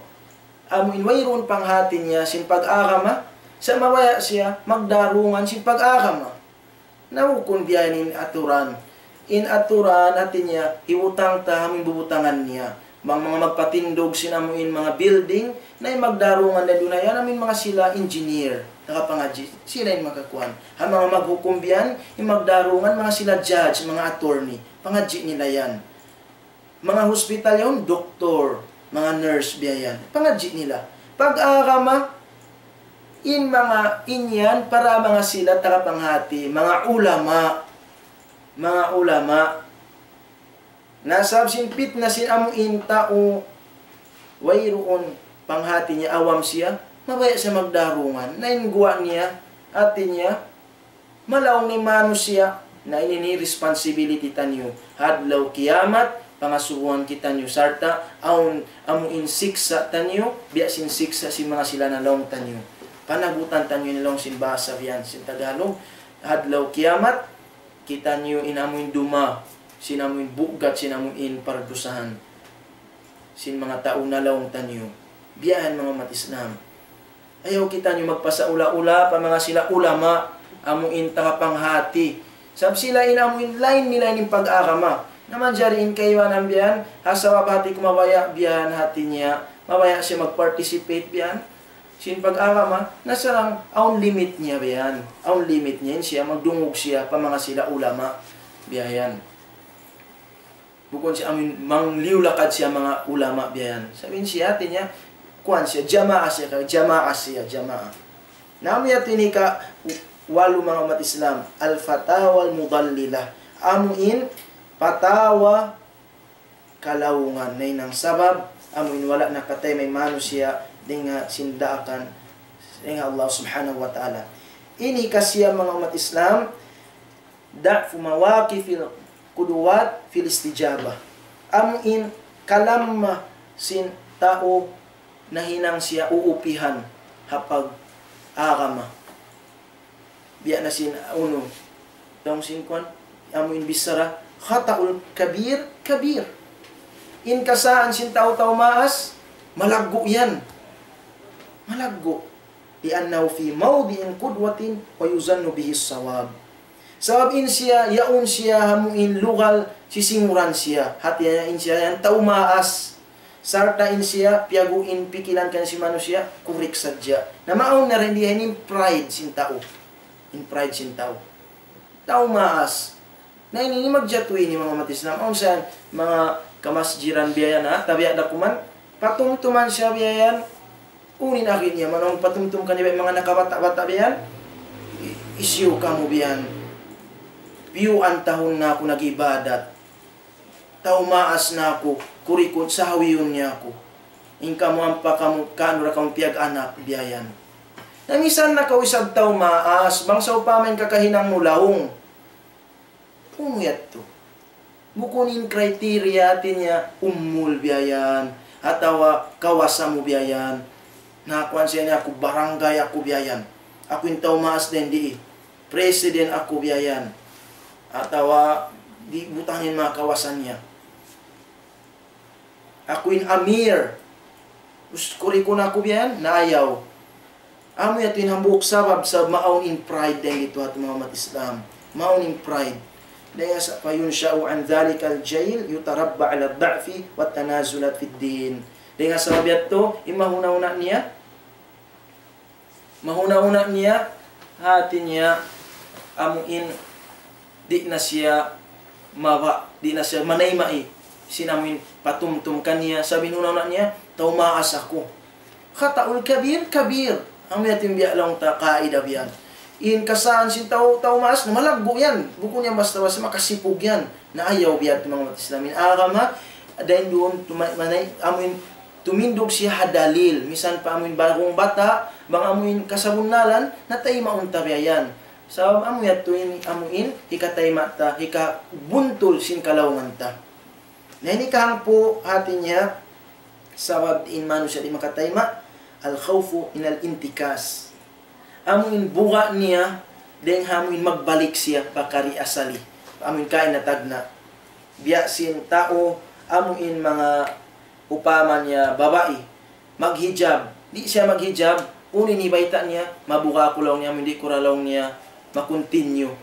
amuin wayruun panghati niya sin pag-agama, sa' mabaya' siya magdarungan sin pag-agama. Na bukun biya' ini in aturan. In aturan, hati niya, hibutang ta amuin bubutangan niya. Bang manga magpatindug sin amuin manga building, na in magdarungan dayn duun ha yan, amuin manga sila engineer, nakapangadji', sila in makakuan. Ha manga maghukum biya' yan, in magdarungan, manga sila judge, manga attorney, pangadji' nila yan. Manga hospital yaun, doktor, manga nurse, biya' yan. Pangadji' nila. Pag-agama, in manga in yan, para manga sila taga panghati, manga ulama. Manga ulama. Na sabab sin pitna sin amuin tau, wayruun panghati niya, awam siya, mabaya' siya magdarungan. Na in guwa' niya, hati niya, malaung in manusiya', na ini in responsibility taniyu. Ha adlaw kiyamat, pangasubuhan kitaniyu, sarta' awn amuin siksa' taniyu, biya' sin siksa' sin manga sila nalaung taniyu. Panagutan taniyu in laung sin bahasa biya' yan, sin Tagalog. Ha adlaw kiyamat, kitaniyu in amuin duma, sin amuin bugat, sin amuin pardusahan sin manga tau nalaung taniyu. Biya' yan manga ummat Islam. Ayaw kitaniyu magpasaula-ula pa manga sila ulama, amuin taga panghati. Sabab sila in amuin lain nila in pag-agama. Na manjari in kaibanan biya' yan, ha sabab hati ku mabaya' biya' yan hati niya, mabaya' siya mag-participate biya' yan. sin pag-agama, na sarang awn limit niya biya' yan. Awn limit niya, in siya magdungug siya pa manga sila ulama biya' yan. Bukun siya amun mangliyu lakad siya manga ulama biya' yan. Sabab in siya, hati niya, kuwan siya, jamaa siya, jamaa siya, jamaa. Na amu yadtu in hika walu, manga ummat Islam, al-fatawa al-mudallilah. Amu in patawa kalaungan, na in sabab, amu in wala' nakatayma' in manusiya' dayn ha sin daakan dayn ha Allah Subhanahu wa Ta'ala. Ini kasi, manga ummat Islam, ضعف مواقف القدوات في الاستجابة. Amu in kalamma sin tau nahinang siya uupihan ha pag-agama. Biya' na sin unu, tau sin kuwan, amu in bichara, خطأ الكبير كبير. In kasaan sin tau-tau maas, malaggu' yan. Malaggu'. لأنه في موضع قدوة ويظن به الصواب. Sabab in siya, yaun siya ha amu in lugal sisinguran siya. Hati niya in siya yan tau maas. Sarta' in siya, piyagu' in pikilan kaniya sin manusiya', kurik sadja. Na maawn na rin diya in pride sin tau. In pride sin tau. Tau maas. Na ini, ini magjatu ini, manga ummat Islam. Awn sa manga kamasjiran biya' yan, ha? Tabiya' da kuman, patumtuman siya biya' yan. Unu in agi niya, manung patumtum kaniya biya' manga nakabata'-bata' biya' yan. I-, hisiyu kamu biya' yan. Piyuan tahun na aku nag-ibadat. Tau maas na aku, kurikun sahawiyun niya aku. In kamu ampa kamu, kaunu da kamu piyag-anak, biya' yan. Na misan na kaw isab tau maas, bang sawpama in kakahinang mu laung. Unu yadtu? Bukun in criteria, hati niya, umul biya' yan, atawa kawasa mu biya' yan. Na kuwan siya niya, aku barangay aku biya' yan. Aku in tau maas dayn di. President aku biya' yan. Atawa di' butangin manga kawasa niya. Aku in amir. Us kurikun aku biya' yan, na ayaw. Amu yadtu in hambuuk sabab, sabab maawn in pride dayn didtu ha manga ummat Islam. Maawn in pride. Dayn ha sa-, فينشأ عن ذلك الجيل يتربى على الضعف والتنازلات في الدين. Dayn ha sabab yadtu, in mahuna-huna niya, mahuna-huna niya, hati niya, amu in di' na siya maba, di' na siya manayma'i sin amu in patumtum kaniya, sabab in huna-huna niya, tau maas aku. خطأ الكبير كبير. Amu yadtu in biya' laung ta kaida biya' yan. In kasaan sin tau, tau maas, na malaggu' yan. Bukun yan basta-basta, makasipug yan. Na ayaw biya' yadtu, manga ummat Islam. In agama, dayn duun, tuma-, manay-, amu in tumindug siya ha dalil. Misan pa amu in baragung bata', bang amu in kasabunnalan, na taymaun ta biya' yan. Sabab amu yadtu in, amu in, hikatayma' ta, hikabuntul sin kalaungan ta. Na ini kahangpu', hati niya, sabab in manusiya' di' makatayma', الخوف من الانتكاس. Amu in buga' niya, dayn ha amu in magbalik siya pa kari asali. Amu in kaina tagna'. Biya' sin tau, amu in manga upama niya babai, maghijab. Di' siya maghijab, unu in hibayta' niya, mabuga' aku laung niya, amu in di' ku ra laung niya, ma-continue.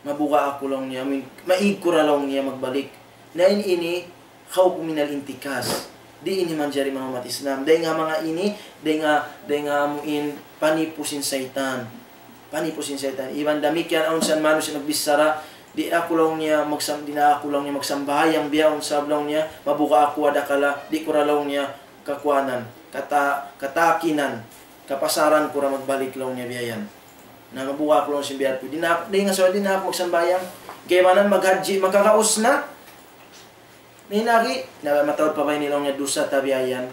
Mabuga' aku laung niya, amu in, maig ku ra laung niya magbalik. Na in ini, خوف من الانتكاس. Di' ini manjari, manga ummat Islam. Dayn ha manga ini, dayn ha, dayn ha amu in panipu sin saytan. Panipu sin saytan. Iban damikkiyan awn sa manusiya' nagbichara, di' aku laung niya magsam-, di' na aku laung niya magsambahayang bihaun sabab laung niya, mabuga' aku adakala, di' ku ra laung niya kakuanan, kata-, katakinan, kapasaran ku ra magbalik laung niya biya' yan. Na mabuga' aku laung sin biya' tu. Di' na, di' na sa, di' na aku magsambahayang. Kaibanan maghajji, makagaus na. Ninari, na mataud pa ba ini laung niya dusa ta biya' yan.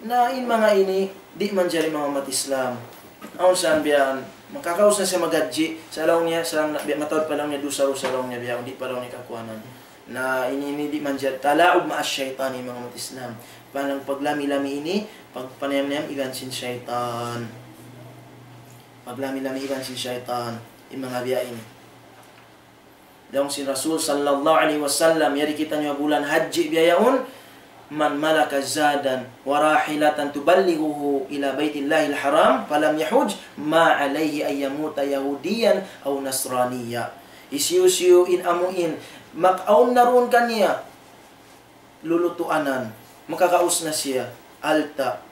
Na in manga ini, di' manjari, manga ummat Islam. Awn sa biya' yan, makagaus na siya maghajji, sa laung niya, sa laung na, biya' mataud pa laung niya dusa, dusa laung niya biya' yan, di' pa laung niya kakuanan. Na ini, ini di' manjari, تلاعب مع الشيطان, manga ummat Islam. Panang paglami-lami ini, pagpanayam-nayam iban sin saytan. Paglami-lami iban sin saytan, in manga biya' ini. Laung sin Rasul sallallahu alayhi wasallam, yari kitaniyu bulan hajji biya' yaun, من ملك زادا وراحلة تبلغه إلى بيت الله الحرام فلم يحج ما عليه أن يموت يهوديا أو نصرانيا. Hisiyu-siyu in amu in, mak-, awn na duun kaniya, lulutuanan, makagaus na siya, alta',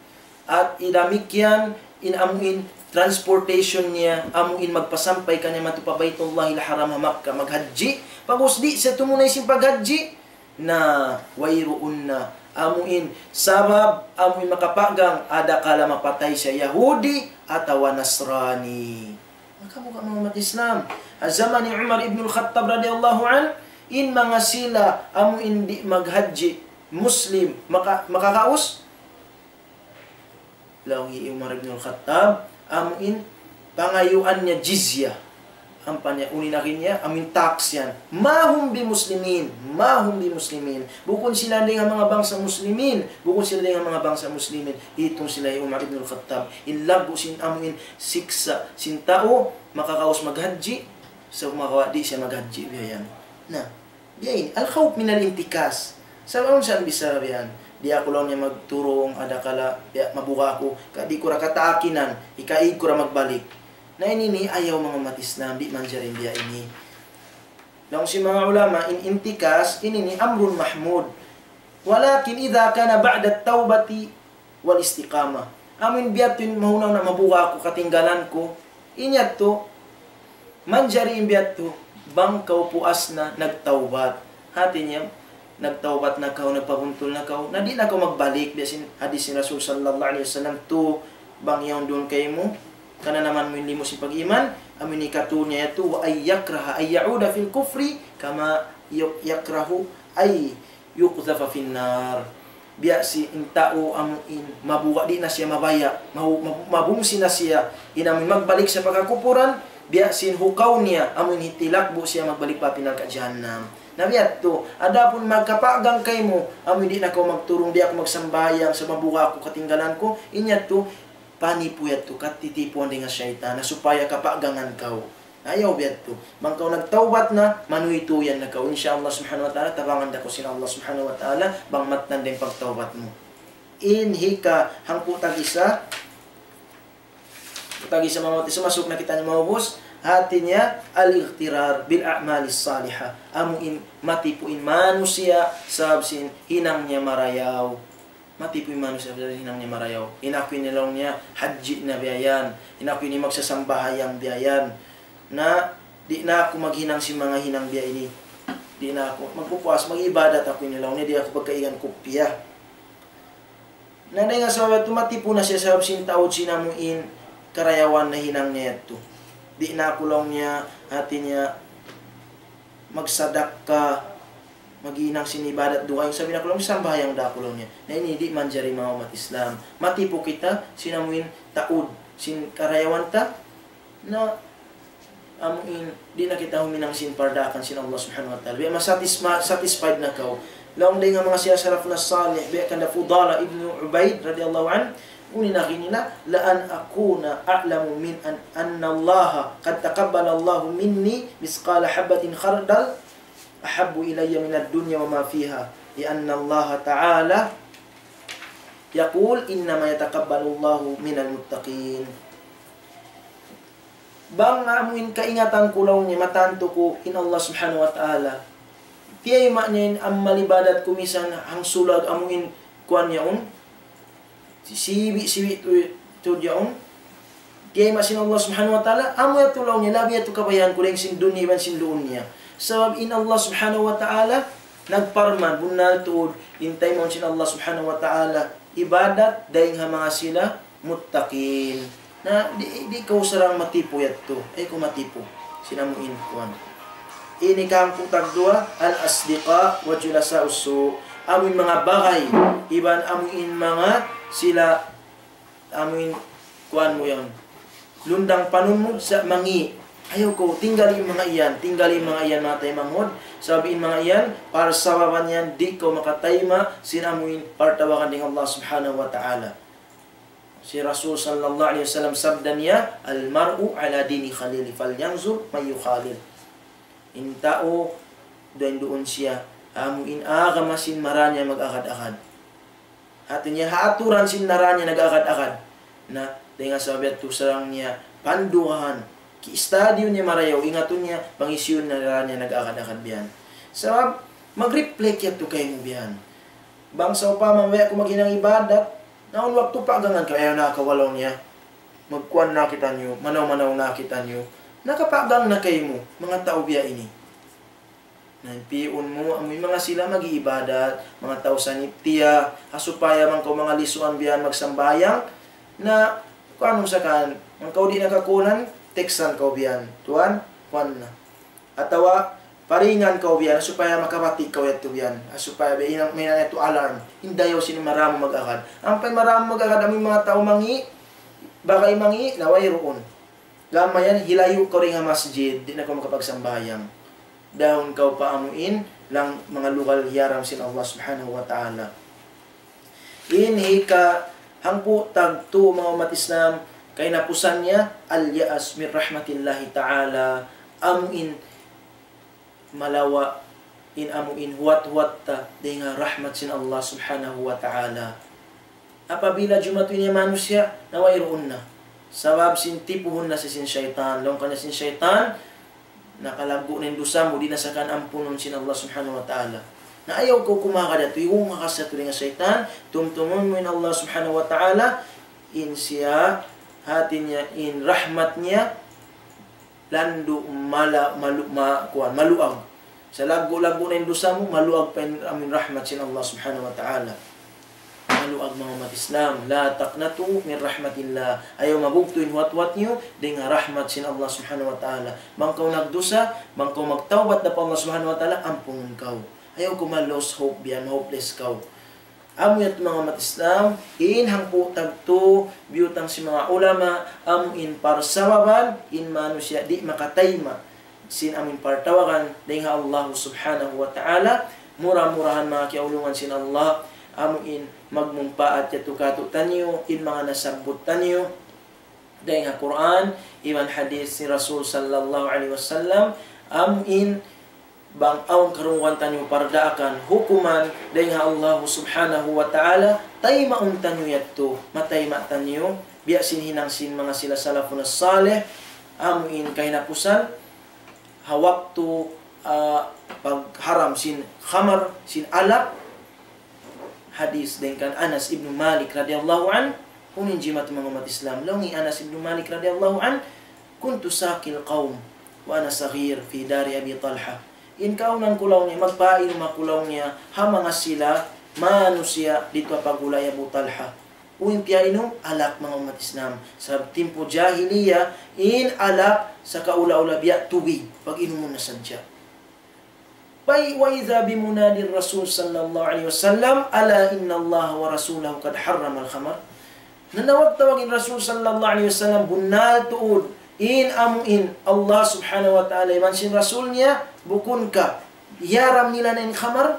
At damikkiyan in amuin transportation niya, amuin magpasampay kaniya madtu pa Baytullahil Haram ha Makkah, maghajji. Pag'ubus di' siya tumunay sin paghajji, na wayruun na. Amuin, sabab, amuin makapagang, adakala mapatay siya Yahudi atawa Nasrani. Maka buka manga ummat Islam. Ha jaman hi Umar ibn al-Khattab radiyallahu anhu, in manga sila, amuin di' maghajji, Muslim, maka-, makakaus? Laung hi Umar ibn al-Khattab, amuin pangayuan niya jizya. Ampa niya, unu in agi niya, amuin tax yan. ما هم بمسلمين, ما هم بمسلمين. Bukun sila dayn ha manga bangsa Muslimin, bukun sila dayn ha manga bangsa Muslimin. Itung sila hi Umar ibn al-Khattab. In laggu' sin amuin siksa' sin tau, makakaus maghajji, sa' makawa' di' siya maghajji, biya' yan. Na, biya' ini, الخوف من الانتكاس. Sabab awn sa' bichara biya' yan. Di' aku laung niya magturung, adakala, biya' mabuga' aku, ka di' ku ra kataakinan, ikaig ku ra magbalik. Na ini ini, ayaw manga ummat Islam, di' manjari biya' ini. Laung sin manga ulama, in intikas, ini ini, أمر محمود. ولكن إذا كان بعد التوبة والاستقامة. Amuin biya' yadtu in mahunaw na mabuga' aku, katinggalan ku. In yadtu, manjari in biya' yadtu, bang kaw puas na nagtawbat. Hati niya, nagtawbat na kaw, nagpabuntul na kaw, na di' na kaw magbalik, biya' sin hadis sin Rasul sallallahu alayhi wasallam, tu bang yaun duun kaymu, kananaman mu in limu sin pag-iman, amuin hikatu niya yadtu, وأن يكره أن يعود في الكفر كما يكره أن يقذف في النار. Biya' sin tau amuin mabuga' di' na siya mabaya', mabu-, mabu-, mabungsi na siya, in amuin magbalik siya pa kakupuran, biya' sin hukaw niya, amuin hitilakbu' siya magbalik pa api narka' jahannam. Na biya' yadtu, adapun magkapagang kaymu, amuin di' na kaw magturung, di' aku magsambahayang, sa' mabuga' aku, katinggalan ku, in yadtu, panipu yadtu, katitipuan dayn ha saytan, na supaya kapagangan kaw. Ayaw biya' yadtu. Bang kaw nagtawbat na, manuytuyan na kaw. Insya Allah subhanahu wa ta'ala, tabangan da kaw sin Allah subhanahu wa ta'ala, bang mattan da in pagtawbat mu. In hika, hangpu' tag-isa, tag-isa mawat, isa masuk na kita ni maubus, hati niya, الاغترار بالأعمال الصالحة. Amuin matipu in manusiya', sabab sin hinang niya marayaw. Matipu in manusiya' sabab hinang niya marayaw. In aku ini laung niya, hajji na biya' yan. In aku ini magsasambahayang biya' yan. Na, di' na aku maghinang sin manga hinang biya' ini. Di' na aku magpupuas, mag-ibadat aku ini laung niya, di' aku pagkaigan kupiya. Na dayn ha sabab yadtu matipu na siya sabab sin taud sin amuin karayawan na hinang niya yadtu. Di' na aku laung niya, hati niya, magsadakka, maghinang sin ibadat dugaing, sabab in aku laung sambahayang da aku laung niya. Na ini di' manjari manga ummat Islam. Matipu kita, sin amuin taud, sin karayawan ta, na amuin, di' na kita huminang sin pardaakan sin Allah subhanahu wa ta'ala. Biya' ma-satis-, ma-, satisfied na kaw. Laung dayn ha manga siya salafun salih, biya' kan Fudala ibn Ubaid radiyallahu anhu, unu in agi niya, لأن أكون أعلم من أن، أن الله قد تقبل الله مني مثقال حبة خردل أحب إلي من الدنيا وما فيها، لأن الله تعالى يقول: إنما يتقبل الله من المتقين. Bang amuin kaingatan ku laung niya, matantu ku in Allah subhanahu wa ta'ala, tiyayma' niya in amal ibadat ku misan hangsulag amuin kuwan yaun, sibi'-sibi' tu, tu yaun. Tiyayma' sin Allah subhanahu wa ta'ala, amu yadtu laung niya, labi yadtu kabayaan ku dayn sin dunya iban sin duun niya. Sabab in Allah subhanahu wa ta'ala, nagparman, bunnal tuud, in taymaun sin Allah subhanahu wa ta'ala, ibadat, dayn ha manga sila, muttaqin. Na, di', di' kaw sarang matipu yadtu. Ayaw kaw matipu. Sin amuin kuwan. Ini kahangpu' tagduwa, الأصدقاء وجلساء السوء. Amuin manga bagay, iban amuin manga sila, amuin kuwan mu yan. Lundang panun mu sa' mangi'. Ayaw kaw, tinggali in manga yan, tinggali in manga yan, manga taymanghud. Sabab in manga yan, parsababan yan, di' kaw makatayma', sin amuin, partawagan dayn Allah subhanahu wa ta'ala. Sin Rasul sallallahu alayhi wasallam sabda niya, المرء على دين خليله فلينظر من يخالل. In tau, duun-duun siya, amuin agama sin mara niya mag-agad-agad. Hati niya, ha aturan sin mara niya nag-agad-agad. Na, dayn ha sabab yadtu sarang niya, pandugahan, ki-study niya marayaw, ingatun niya, bang hisiyu in mara niya nag-agad-agad biya' yan. Sabab, mag-reflect yadtu kaymu biya' yan. Bang sawpama, way aku maghinang ibadat, Na awn waktu pagangan kaw, ayaw na kaw, laung niya. Magkuan na kitaniyu, manaw-manaw na kitaniyu. Nakapagang na kaymu, manga tau biya' ini. Na in pi'un mu, amu in manga sila mag-iibadat, manga tau saniptiya, ha supaya bang kaw manga lisuan biya' yan magsambahayang, na, kuan mu sa kan, bang kaw di' nakakunan, textan kaw biya' yan, tuwan, kuan na. Atawa, paringan kaw biya' yan, supaya makabati' kaw yadtu biya' yan, supaya biya' yan, mahinang yadtu alarm, in dayaw sin maramu mag-agad. Ampa in maramu mag-agad, amu in manga tau mangi', bagay mangi', na wayruun. Gam mayan, hilayu' kaw dayn ha masjid, di' na kaw makapagsambahayang. Dahun kaw pa amu in, laung manga lugal hiyaram sin Allah Subhanahu wa Ta'ala. In hika hangpu' tagtu, manga ummat Islam, kahinapusan niya, اليأس من رحمة الله تعالى, amu in malawa' in amu in huwat-huwat ta dayn ha rahmat sin Allah Subhanahu wa Ta'ala. Apabila jumatu in manusiya', na wayruun na. Sabab sin tipuhun na siya sin saytan. Laung kaniya sin saytan, nakalaggu' na in dusa mu, di' na sa kan ampunun sin Allah Subhanahu wa Ta'ala. Na ayaw kaw kumagad yadtu, iwung ka sa tuud dayn ha saytan, tumtumun mu in Allah Subhanahu wa Ta'ala, in siya, hati niya, in rahmat niya, landu' mala-, malu-, ma-, kuwan, maluag. Sa laggu'-laggu' na in dusa mu, maluag pa in amu in rahmat sin Allah Subhanahu wa Ta'ala. Maluag, manga ummat Islam, لا تقنطوا من رحمة الله. Ayaw mabugtu' in huwat-huwat niyu dayn ha rahmat sin Allah Subhanahu wa Ta'ala. Bang kaw nagdusa, bang kaw magtawbat da pa Allah Subhanahu wa Ta'ala, ampunun kaw. Ayaw kaw ma-lose hope biya' yan, ma-hopeless kaw. Amu yadtu, manga ummat Islam, in hangpu' tagtu, biyutang sin manga ulama, amu in parsababan, in manusiya' di' makatayma' sin amu in partawagan dayn ha Allah Subhanahu wa Ta'ala. Mura-murahan, manga kiyaulungan sin Allah, amu in magmumpaat yadtu kātu'niyu in manga nasabbut taniyu dayn ha Qur'an iban hadith sin Rasul sallallahu alayhi wasallam, amu in bang awn karungugan taniyu pardaakan, hukuman dayn ha Allah Subhanahu wa Ta'ala, taymaun taniyu yadtu, matayma' taniyu, biya' sin hinang sin manga sila salafun salih, amu in kahinapusan, ha waktu, ah, pagharam sin khamar, sin alak, hadith dayn kan Anas ibn Malik radiyallahu anhu, unu in jimatu, manga ummat Islam. Laung hi Anas ibn Malik radiyallahu anhu, كنت ساقي القوم وأنا صغير في دار أبي طلحة. In kaawnan ku, laung niya, magpainum aku, laung niya, ha manga sila manusiya' didtu ha pagulay Abu Talha. Unu in piyainum? Alak, manga ummat Islam. Sabab timpu jahiliya, in alak sakaula-ula biya' tubig, pag-inumun na sadja. Pay, وإذا بمنادي الرسول صلى الله عليه وسلم: ألا إن الله ورسوله قد حرم الخمر. Nanawag-tawag in Rasul sallallahu alayhi wasallam, bunnal tuud in amu in Allah Subhanahu wa Ta'ala iban sin Rasul niya, bukun ka hiyaram nila na in khamar?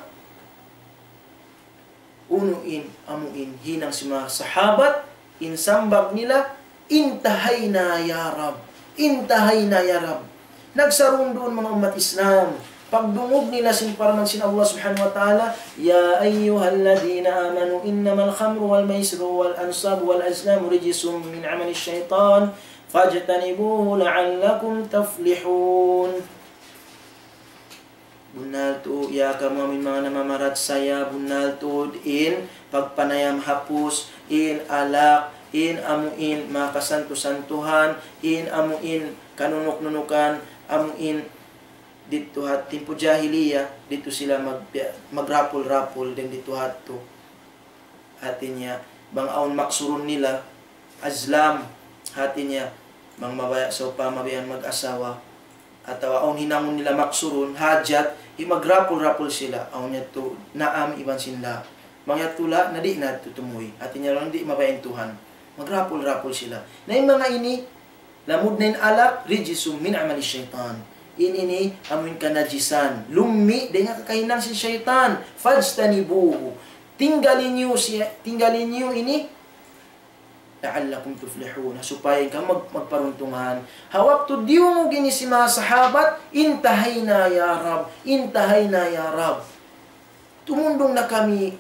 Unu in amu in hinang sin manga sahabat, in sambag nila, انتهينا يا رب، انتهينا يا رب. Nagsarun-duun, manga ummat Islam, pagdungug nila sin parman sin Allah Subhanahu wa Ta'ala, يا أيها الذين آمنوا إنما الخمر والميسر والأنصاب والأزلام رجس من عمل الشيطان فاجتنبوه لعلكم تفلحون. Bunnal tuud, ya kamu amu in manga namamarachaya, bunnal tuud in pagpanayam hapus, in alak, in amu in manga kasantu-santuhan, in amu in kanunuk-nunukan, amu in didtu ha timpu jahiliya, didtu sila mag-, magrapul-rapul dayn didtu ha yadtu. Hati niya, bang awn maksurun nila, azlam, hati niya, bang mabaya' sawpama biya' yan mag-asawa, atawa awn hinangun nila maksurun, hajat, hi magrapul-rapul sila, awn yadtu naam iban sin la. Bang yadtu la, na di' na yadtu tumuy. Hati niya, laung di' mabaya' in Tuhan. Magrapul-rapul sila. Na in manga ini, lamud na in alak, رجس من عمل الشيطان. In ini, amu in kanajisan. Lummi', dayn ha kakahinang sin saytan. فاجتنبوه. Tinggali niyu siya, tinggali niyu ini. لعلكم تفلحون. Supaya kamu mag-, magparuntungan. Ha waktu diyungug ini sin manga sahabat, انتهينا يا رب، انتهينا يا رب. Tumundung na kami,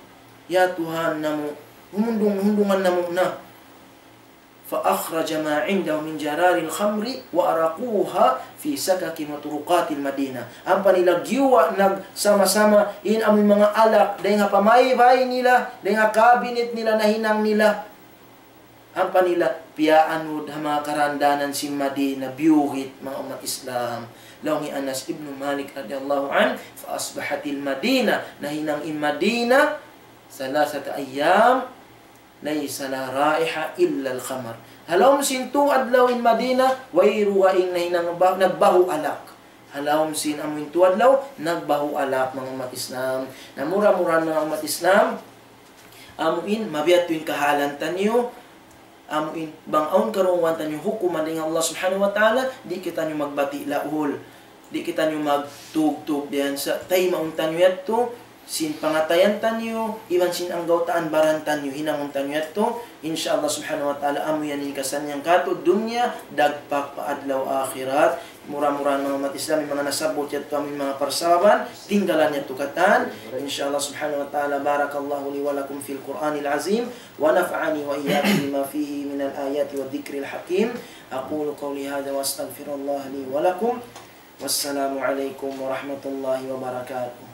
ya Tuhan namu'. Humundung, hundungan namu' na. فأخرج ما عنده من جرار الخمر وأرقوها في سكك وطرقات المدينة. Ampa nila giyuwa' nagsama-sama in amuin manga alak, dayn ha pamaybay nila, dayn ha kabinet nila, nahinang nila. Ampa nila piyaanud ha manga karandanan sin Madina, biyuhit, manga ummat Islam. Laung hi Anas ibn Malik radiyallahu anhu, فأصبحت المدينة, nahinang in Madina, ثلاثة أيام ليس لها رائحة إلا الخمر. Ha lawm sin tū adlaw in Madina, wayruun nahinang ba-, nagbahu' alak. Ha lawm sin amuin tū adlaw, nagbahu' alak, manga ummat Islam. Na mura-murahan, manga ummat Islam, amuin, mabiya' tuud in kahalan taniyu, amuin, bang awn karungugan taniyu hukuman dayn ha Allah Subhanahu wa Ta'ala, di' kitaniyu magbati' laul. Di' kitaniyu magtugtug diyan sa' taymaun taniyu yadtu, sin pangatayan taniyu, iban sin anggawtaan baran taniyu, hinangun taniyu yadtu. Insya Allah Subhanahu wa Ta'ala, amu yan in kasannyangan katu' dunya, dagpak pa adlaw akhirat. Mura-murahan, manga ummat Islam, in manga nasabbut yadtu, amu in manga parsababan, tinggalan yadtu katan. Insya Allah Subhanahu wa Ta'ala, بارك الله لي ولكم في القرآن العظيم، ونفعني وإياكم بما فيه من الآيات والذكر الحكيم. أقول قولي هذا وأستغفر الله لي ولكم. والسلام عليكم ورحمة الله وبركاته.